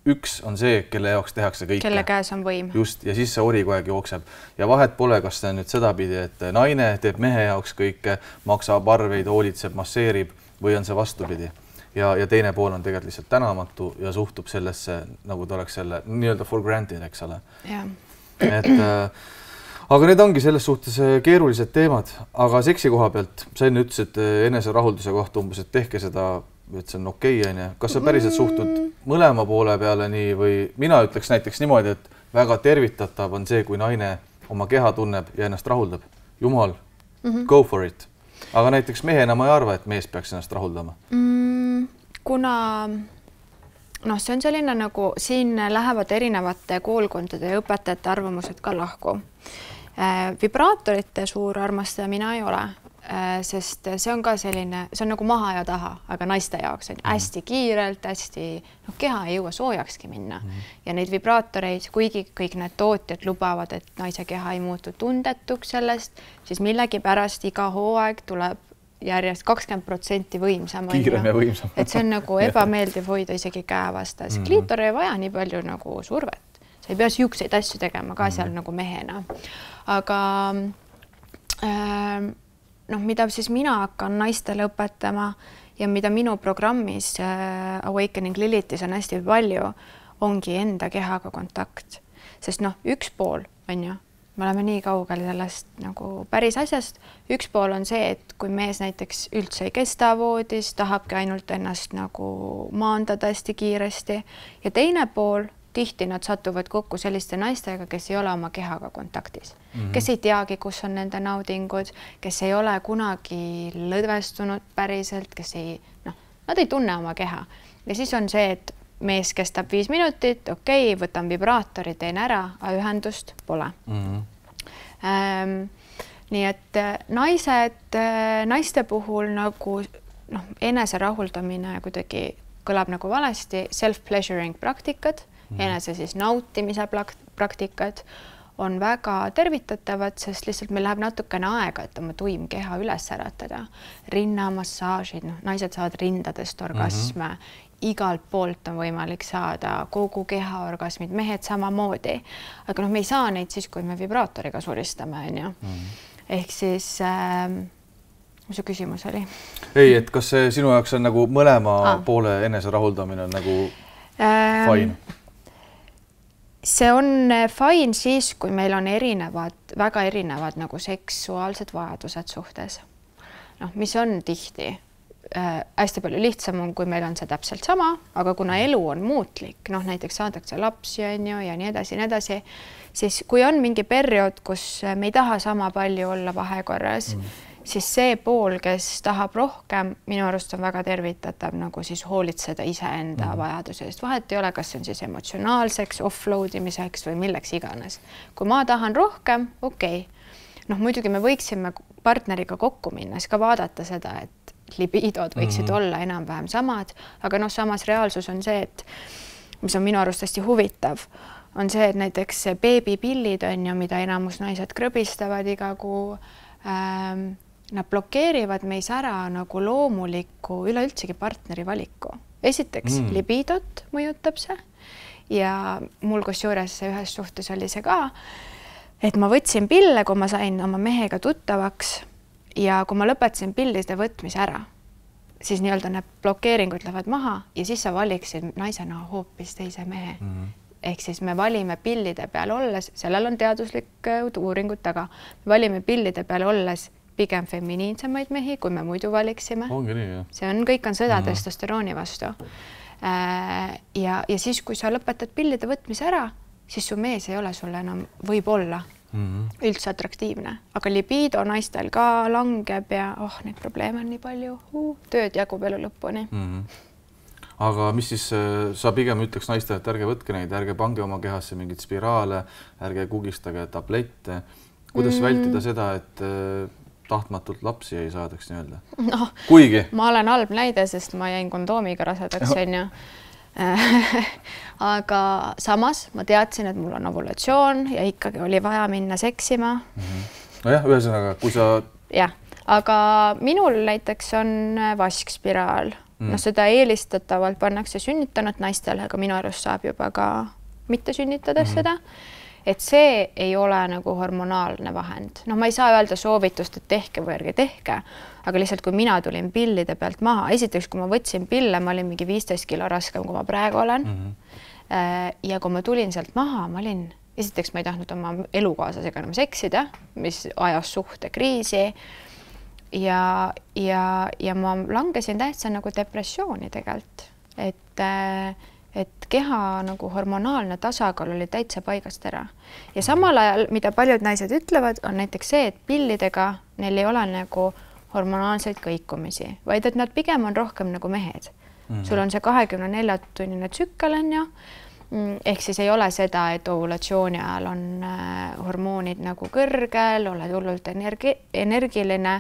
Üks on see, kelle jaoks tehakse kõike. Kelle käes on võim. Just, ja siis see ori kogu aeg jookseb. Ja vahet pole, kas see on nüüd sedapidi, et naine teeb mehe jaoks kõike, maksab arveid, hoolitseb, masseerib või on see vastupidi. Ja, ja teine pool on tegelikult lihtsalt tänamatu ja suhtub sellesse, nagu ta oleks selle nii-öelda for granted, eks ole. Ja. Et, äh, aga need ongi selles suhtes keerulised teemad, aga seksi koha pealt, sa enne ütlesid enese rahulduse kohta umbes, et tehke seda et see on okei okay,, onju. Kas sa päriselt suhtud mõlema poole peale nii või mina ütleks näiteks niimoodi, et väga tervitatav on see, kui naine oma keha tunneb ja ennast rahuldab. Jumal, mm-hmm. go for it. Aga näiteks mehena ma ei arva, et mees peaks ennast rahuldama. Mm, kuna noh, see on selline nagu siin lähevad erinevate koolkondade ja õpetajate arvamused ka lahku. Äh, vibraatorite suur armastaja mina ei ole, äh, sest see on ka selline, see on nagu maha ja taha, aga naiste jaoks on hästi kiirelt, hästi, noh, keha ei jõua soojakski minna. Mm. Ja neid vibraatoreid, kuigi kõik need tootjad lubavad, et naise keha ei muutu tundetuks sellest, siis millegi pärast iga hooaeg tuleb järjest kakskümmend protsenti võimsam. Kiirem ja võimsam. Et see on nagu ebameeldiv hoida isegi käe vastas. Mm-hmm. Kliitor ei vaja nii palju nagu survet. Sa ei pea siukseid asju tegema ka seal mm-hmm. nagu mehena. Aga äh, noh, mida siis mina hakkan naistele õpetama ja mida minu programmis äh, Awakening Lilitis on hästi palju, ongi enda kehaga kontakt. Sest noh, üks pool on ju, me oleme nii kaugel sellest nagu päris asjast. Üks pool on see, et kui mees näiteks üldse ei kesta voodis, tahabki ainult ennast nagu maandada hästi kiiresti. Ja teine pool, tihti nad satuvad kokku selliste naistega, kes ei ole oma kehaga kontaktis. Mm-hmm. Kes ei teagi, kus on nende naudingud, kes ei ole kunagi lõdvestunud päriselt, kes ei, noh, nad ei tunne oma keha. Ja siis on see, et mees kestab viis minutit, okei, okay, võtan vibraatori, teen ära, aga ühendust pole. Mm-hmm. ähm, nii et naised, naiste puhul nagu noh, enese rahuldamine kuidagi kõlab nagu valesti, self-pleasuring praktikad, mm-hmm. enese siis nautimise praktikad on väga tervitatavad, sest lihtsalt meil läheb natukene aega, et oma tuim keha üles äratada. Rinnamassaažid, noh, naised saavad rindadest orgasme, mm-hmm. igalt poolt on võimalik saada kogu keha orgasmid, mehed samamoodi. Aga noh, me ei saa neid siis, kui me vibraatoriga suristame, on ju. Mm. Ehk siis, äh, mis su küsimus oli? Ei, et kas see sinu jaoks on nagu mõlema ah. poole enese rahuldamine on nagu ähm, fine? See on fine siis, kui meil on erinevad, väga erinevad nagu seksuaalsed vajadused suhtes. Noh, mis on tihti Äh, hästi palju lihtsam on, kui meil on see täpselt sama, aga kuna elu on muutlik, noh näiteks saadakse lapsi on ju ja nii edasi, nii edasi, siis kui on mingi periood, kus me ei taha sama palju olla vahekorras, mm. siis see pool, kes tahab rohkem, minu arust on väga tervitatav nagu siis hoolitseda iseenda mm. vajaduse eest. Vahet ei ole, kas see on siis emotsionaalseks, offload imiseks või milleks iganes. Kui ma tahan rohkem, okei. Okay. Noh, muidugi me võiksime partneriga kokku minna, siis ka vaadata seda, et libiidod võiksid mm-hmm. olla enam-vähem samad, aga noh, samas reaalsus on see, et mis on minu arust hästi huvitav, on see, et näiteks beebipillid on ju, mida enamus naised krõbistavad iga kuu, ähm, nad blokeerivad meis ära nagu loomuliku üleüldsegi partneri valiku. Esiteks mm. libiidot mõjutab see ja mul kusjuures ühes suhtes oli see ka, et ma võtsin pille, kui ma sain oma mehega tuttavaks ja kui ma lõpetasin pillide võtmise ära, siis nii-öelda need blokeeringud lähevad maha ja siis sa valiksid naisena hoopis teise mehe. Mm-hmm. Ehk siis me valime pillide peal olles, sellel on teaduslik uuringud taga, me valime pillide peal olles pigem feminiinsemaid mehi, kui me muidu valiksime. Ongi nii, jah. See on kõik on sõda mm-hmm. testosterooni vastu. Ja, ja siis, kui sa lõpetad pillide võtmise ära, siis su mees ei ole sulle enam võib-olla Mm-hmm. üldse atraktiivne, aga libiido naistel ka langeb ja oh, neid probleeme on nii palju, uh, tööd jagub elu lõpuni. Mm-hmm. Aga mis siis, sa pigem ütleks naistele, et ärge võtke neid, ärge pange oma kehasse mingid spiraale, ärge kugistage tablette. Kuidas mm-hmm. vältida seda, et tahtmatult lapsi ei saadaks nii-öelda? No, kuigi? Ma olen halb näide, sest ma jäin kondoomiga rasedaks, on ju. aga samas ma teadsin, et mul on ovulatsioon ja ikkagi oli vaja minna seksima. Mm-hmm. No jah, ühesõnaga, kui sa... jah, aga minul näiteks on vaskspiraal. Mm. No seda eelistatavalt pannakse sünnitanud naistele, aga minu arust saab juba ka mitte sünnitades mm-hmm. seda. Et see ei ole nagu hormonaalne vahend. No ma ei saa öelda soovitust, et tehke või ärge tehke, aga lihtsalt kui mina tulin pillide pealt maha, esiteks kui ma võtsin pille, ma olin mingi viisteist kilo raskem, kui ma praegu olen. Mm-hmm. Ja kui ma tulin sealt maha, ma olin, esiteks ma ei tahtnud oma elukaaslasega enam seksida, mis ajas suhte kriisi. ja, ja, ja ma langesin täitsa nagu depressiooni tegelikult, et, et keha nagu hormonaalne tasakaal oli täitsa paigast ära. Ja samal ajal, mida paljud naised ütlevad, on näiteks see, et pillidega neil ei ole nagu hormonaalseid kõikumisi, vaid et nad pigem on rohkem nagu mehed. Mm-hmm. Sul on see kahekümne nelja tunnine tsükkel on ju, ehk siis ei ole seda, et ovulatsiooni ajal on hormoonid nagu kõrgel, oled hullult energi, energiline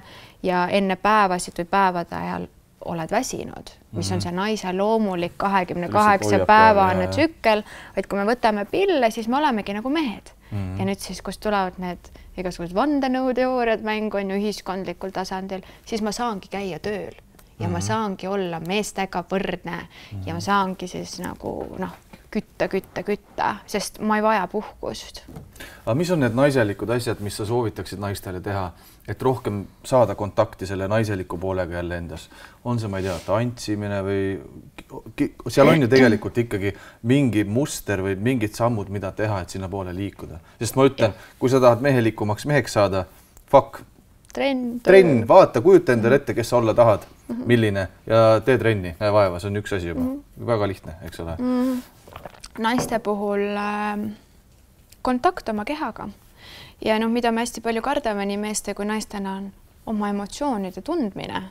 ja enne päevasid või päevade ajal oled väsinud, mis on see naise loomulik kahekümne kaheksa päevane tsükkel, vaid kui me võtame pille, siis me olemegi nagu mehed. Mm-hmm. Ja nüüd siis, kus tulevad need igasugused vandenõuteooriad mängu on ju ühiskondlikul tasandil, siis ma saangi käia tööl ja mm-hmm. ma saangi olla meestega võrdne mm-hmm. ja ma saangi siis nagu noh, kütta, kütta, kütta, sest ma ei vaja puhkust. Aga mis on need naiselikud asjad, mis sa soovitaksid naistele teha, et rohkem saada kontakti selle naiseliku poolega jälle endas? On see, ma ei tea, tantsimine või seal on ju tegelikult ikkagi mingi muster või mingid sammud, mida teha, et sinna poole liikuda. Sest ma ütlen, kui sa tahad mehelikumaks meheks saada, fuck, trenn, trenn, vaata, kujuta endale ette, kes sa olla tahad, milline ja tee trenni, näe vaeva, see on üks asi juba. Väga lihtne, eks ole. Naiste puhul kontakt oma kehaga ja noh, mida me hästi palju kardame nii meeste kui naistena on oma emotsioonide tundmine.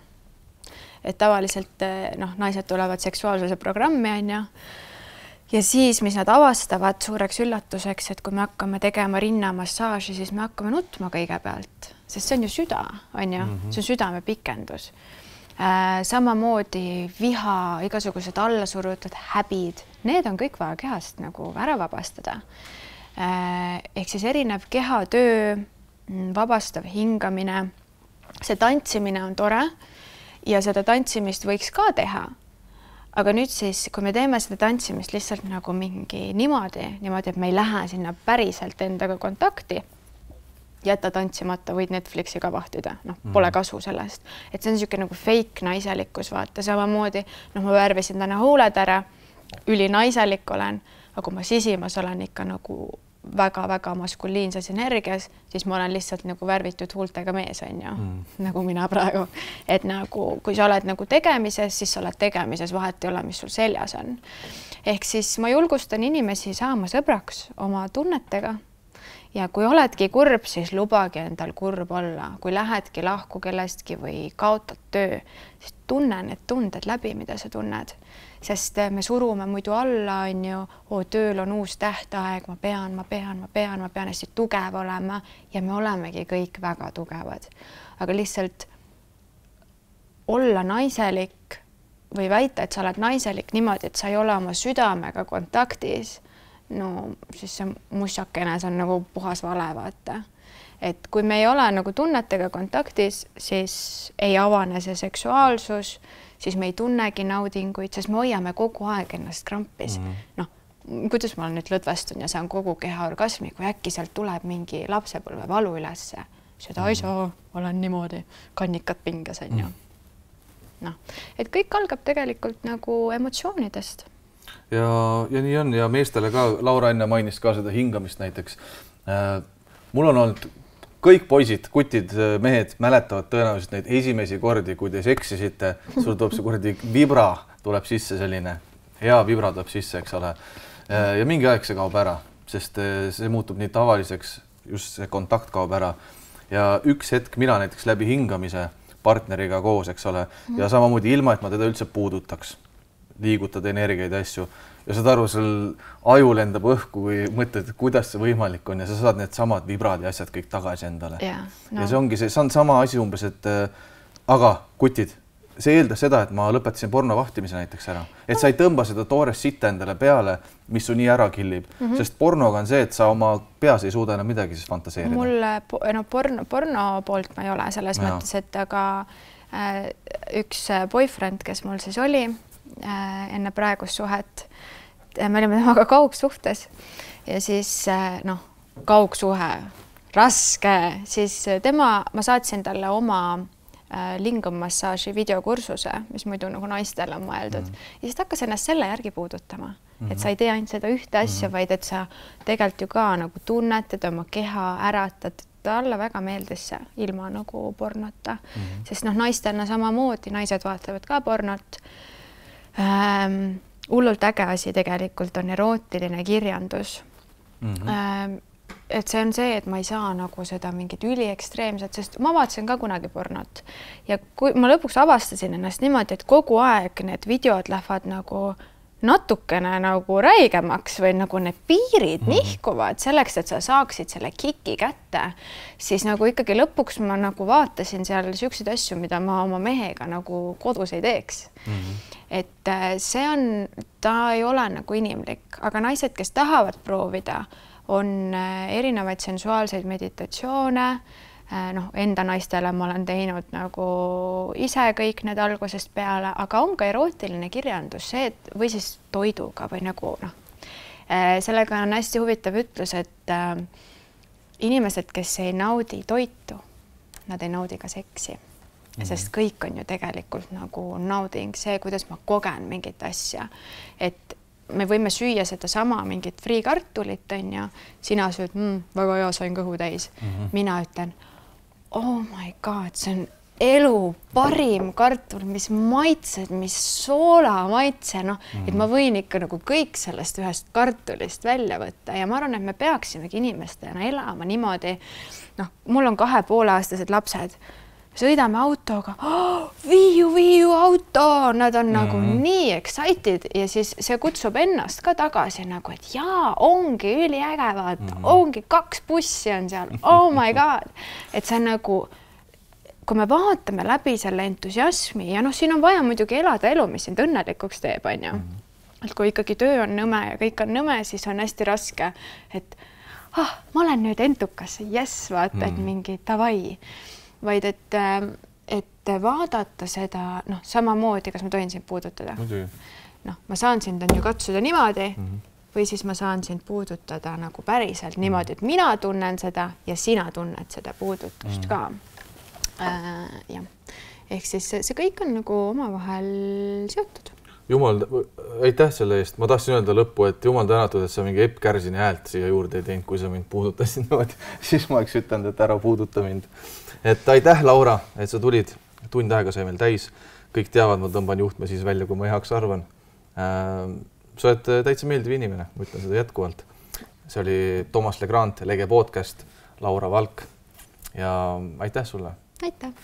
Et tavaliselt noh, naised tulevad seksuaalsuse programmi on ja ja siis, mis nad avastavad suureks üllatuseks, et kui me hakkame tegema rinnamassaaži, siis me hakkame nutma kõigepealt, sest see on ju süda, on ju, see on südame pikendus. Samamoodi viha, igasugused allasurutud häbid, need on kõik vaja kehast nagu ära vabastada. Ehk siis erinev kehatöö, vabastav hingamine, see tantsimine on tore ja seda tantsimist võiks ka teha. Aga nüüd siis, kui me teeme seda tantsimist lihtsalt nagu mingi niimoodi, niimoodi, et me ei lähe sinna päriselt endaga kontakti, jätta tantsimata, võid Netflixi ka vahtida, noh, pole kasu sellest. Et see on niisugune nagu fake naiselikkus, vaata samamoodi, noh, ma värvisin täna huuled ära, üli naiselik olen, aga kui ma sisimas olen ikka nagu väga-väga maskuliinses energias, siis ma olen lihtsalt nagu värvitud huultega mees, on ju, mm. nagu mina praegu. Et nagu, kui sa oled nagu tegemises, siis sa oled tegemises, vahet ei ole, mis sul seljas on. Ehk siis ma julgustan inimesi saama sõbraks oma tunnetega. Ja kui oledki kurb, siis lubagi endal kurb olla. Kui lähedki lahku kellestki või kaotad töö, siis tunne need tunded läbi, mida sa tunned. Sest me surume muidu alla, on ju, oo, tööl on uus tähtaeg, ma pean, ma pean, ma pean, ma pean hästi tugev olema ja me olemegi kõik väga tugevad. Aga lihtsalt olla naiselik või väita, et sa oled naiselik niimoodi, et sa ei ole oma südamega kontaktis, no siis see mussakene, see on nagu puhas vale, vaata. Et kui me ei ole nagu tunnetega kontaktis, siis ei avane see seksuaalsus, siis me ei tunnegi naudinguid, sest me hoiame kogu aeg ennast krampis. Mm -hmm. Noh, kuidas ma nüüd lõdvestun ja saan kogu keha orgasmi, kui äkki sealt tuleb mingi lapsepõlve valu ülesse. Seda ei saa, olen niimoodi, kannikad pinges, on ju. Noh, et kõik algab tegelikult nagu emotsioonidest. Ja, ja nii on ja meestele ka, Laura enne mainis ka seda hingamist näiteks. Äh, mul on olnud kõik poisid, kutid, mehed mäletavad tõenäoliselt neid esimesi kordi, kui te seksisite, sul tuleb see kordi vibra, tuleb sisse selline, hea vibra tuleb sisse, eks ole. Äh, ja mingi aeg see kaob ära, sest see muutub nii tavaliseks, just see kontakt kaob ära. Ja üks hetk mina näiteks läbi hingamise partneriga koos, eks ole, ja samamoodi ilma, et ma teda üldse puudutaks. Liigutad energiaid asju ja saad aru, sul aju lendab õhku või mõtled, kuidas see võimalik on ja sa saad need samad vibrad ja asjad kõik tagasi endale. Yeah, no. Ja see ongi see, see on sama asi umbes, et äh, aga kutid, see eeldas seda, et ma lõpetasin porno vahtimise näiteks ära. Et sa ei tõmba seda toores sitta endale peale, mis su nii ära killib. Mm -hmm. Sest pornoga on see, et sa oma peas ei suuda enam midagi siis fantaseerida. Mulle no, porno, porno poolt ma ei ole selles ja. mõttes, et aga äh, üks boyfriend, kes mul siis oli, enne praegust suhet. Me olime temaga kaugsuhtes ja siis noh, kaugsuhe, raske, siis tema, ma saatsin talle oma lingummassaaži videokursuse, mis muidu nagu naistele on mõeldud. Mm. Ja siis ta hakkas ennast selle järgi puudutama, mm -hmm. et sa ei tee ainult seda ühte asja, mm -hmm. vaid et sa tegelikult ju ka nagu tunnetad oma keha, äratad, talle väga meeldis see ilma nagu pornota mm, -hmm. sest noh, naistena samamoodi, naised vaatavad ka pornot ähm,. Hullult äge asi tegelikult on erootiline kirjandus mm. -hmm. Ähm, et see on see, et ma ei saa nagu seda mingit üliekstreemset, sest ma vaatasin ka kunagi pornot ja kui ma lõpuks avastasin ennast niimoodi, et kogu aeg need videod lähevad nagu natukene nagu räigemaks või nagu need piirid mm. nihkuvad selleks, et sa saaksid selle kiki kätte, siis nagu ikkagi lõpuks ma nagu vaatasin seal siukseid asju, mida ma oma mehega nagu kodus ei teeks mm. et see on, ta ei ole nagu inimlik, aga naised, kes tahavad proovida, on erinevaid sensuaalseid meditatsioone, noh, enda naistele ma olen teinud nagu ise kõik need algusest peale, aga on ka erootiline kirjandus, see, et või siis toiduga või nagu noh, sellega on hästi huvitav ütlus, et äh, inimesed, kes ei naudi toitu, nad ei naudi ka seksi, mm-hmm. sest kõik on ju tegelikult nagu nauding, see, kuidas ma kogen mingit asja, et me võime süüa seda sama mingit friikartulit, on ju, sina sööd, mm, väga hea, sain kõhu täis, mm-hmm. mina ütlen, oh my god, see on elu parim kartul, mis maitsed, mis soola maitse, noh, mm-hmm. et ma võin ikka nagu kõik sellest ühest kartulist välja võtta ja ma arvan, et me peaksimegi inimestena elama niimoodi, noh, mul on kahe pooleaastased lapsed, sõidame autoga, oh, viiu, viiu auto, nad on mm-hmm. nagu nii excited ja siis see kutsub ennast ka tagasi nagu, et jaa, ongi üliäge, vaata, mm-hmm. ongi kaks bussi on seal, oh my god, et see on nagu, kui me vaatame läbi selle entusiasmi ja noh, siin on vaja muidugi elada elu, mis sind õnnelikuks teeb, on ju. Mm-hmm. Et kui ikkagi töö on nõme ja kõik on nõme, siis on hästi raske, et ah, ma olen nüüd entukas, jess, vaata, mm-hmm. et mingi tavai. Vaid et, et vaadata seda, noh, samamoodi, kas ma tohin sind puudutada? Noh, ma saan sind on ju katsuda niimoodi mm-hmm. või siis ma saan sind puudutada nagu päriselt mm-hmm. niimoodi, et mina tunnen seda ja sina tunned seda puudutust mm-hmm. ka. Äh, jah. Ehk siis see, see kõik on nagu omavahel seotud. Jumal, aitäh selle eest. Ma tahtsin öelda lõppu, et jumal tänatud, et sa mingi Epp Kärsini häält siia juurde ei teinud, kui sa mind puudutasid niimoodi. Siis ma oleks ütelnud, et ära puuduta mind. Et aitäh, Laura, et sa tulid. Tund aega sai meil täis. Kõik teavad, ma tõmban juhtme siis välja, kui ma heaks arvan. Sa oled täitsa meeldiv inimene, ma ütlen seda jätkuvalt. See oli Toomas Legrand, Lege podcast, Laura Valk ja aitäh sulle. Aitäh.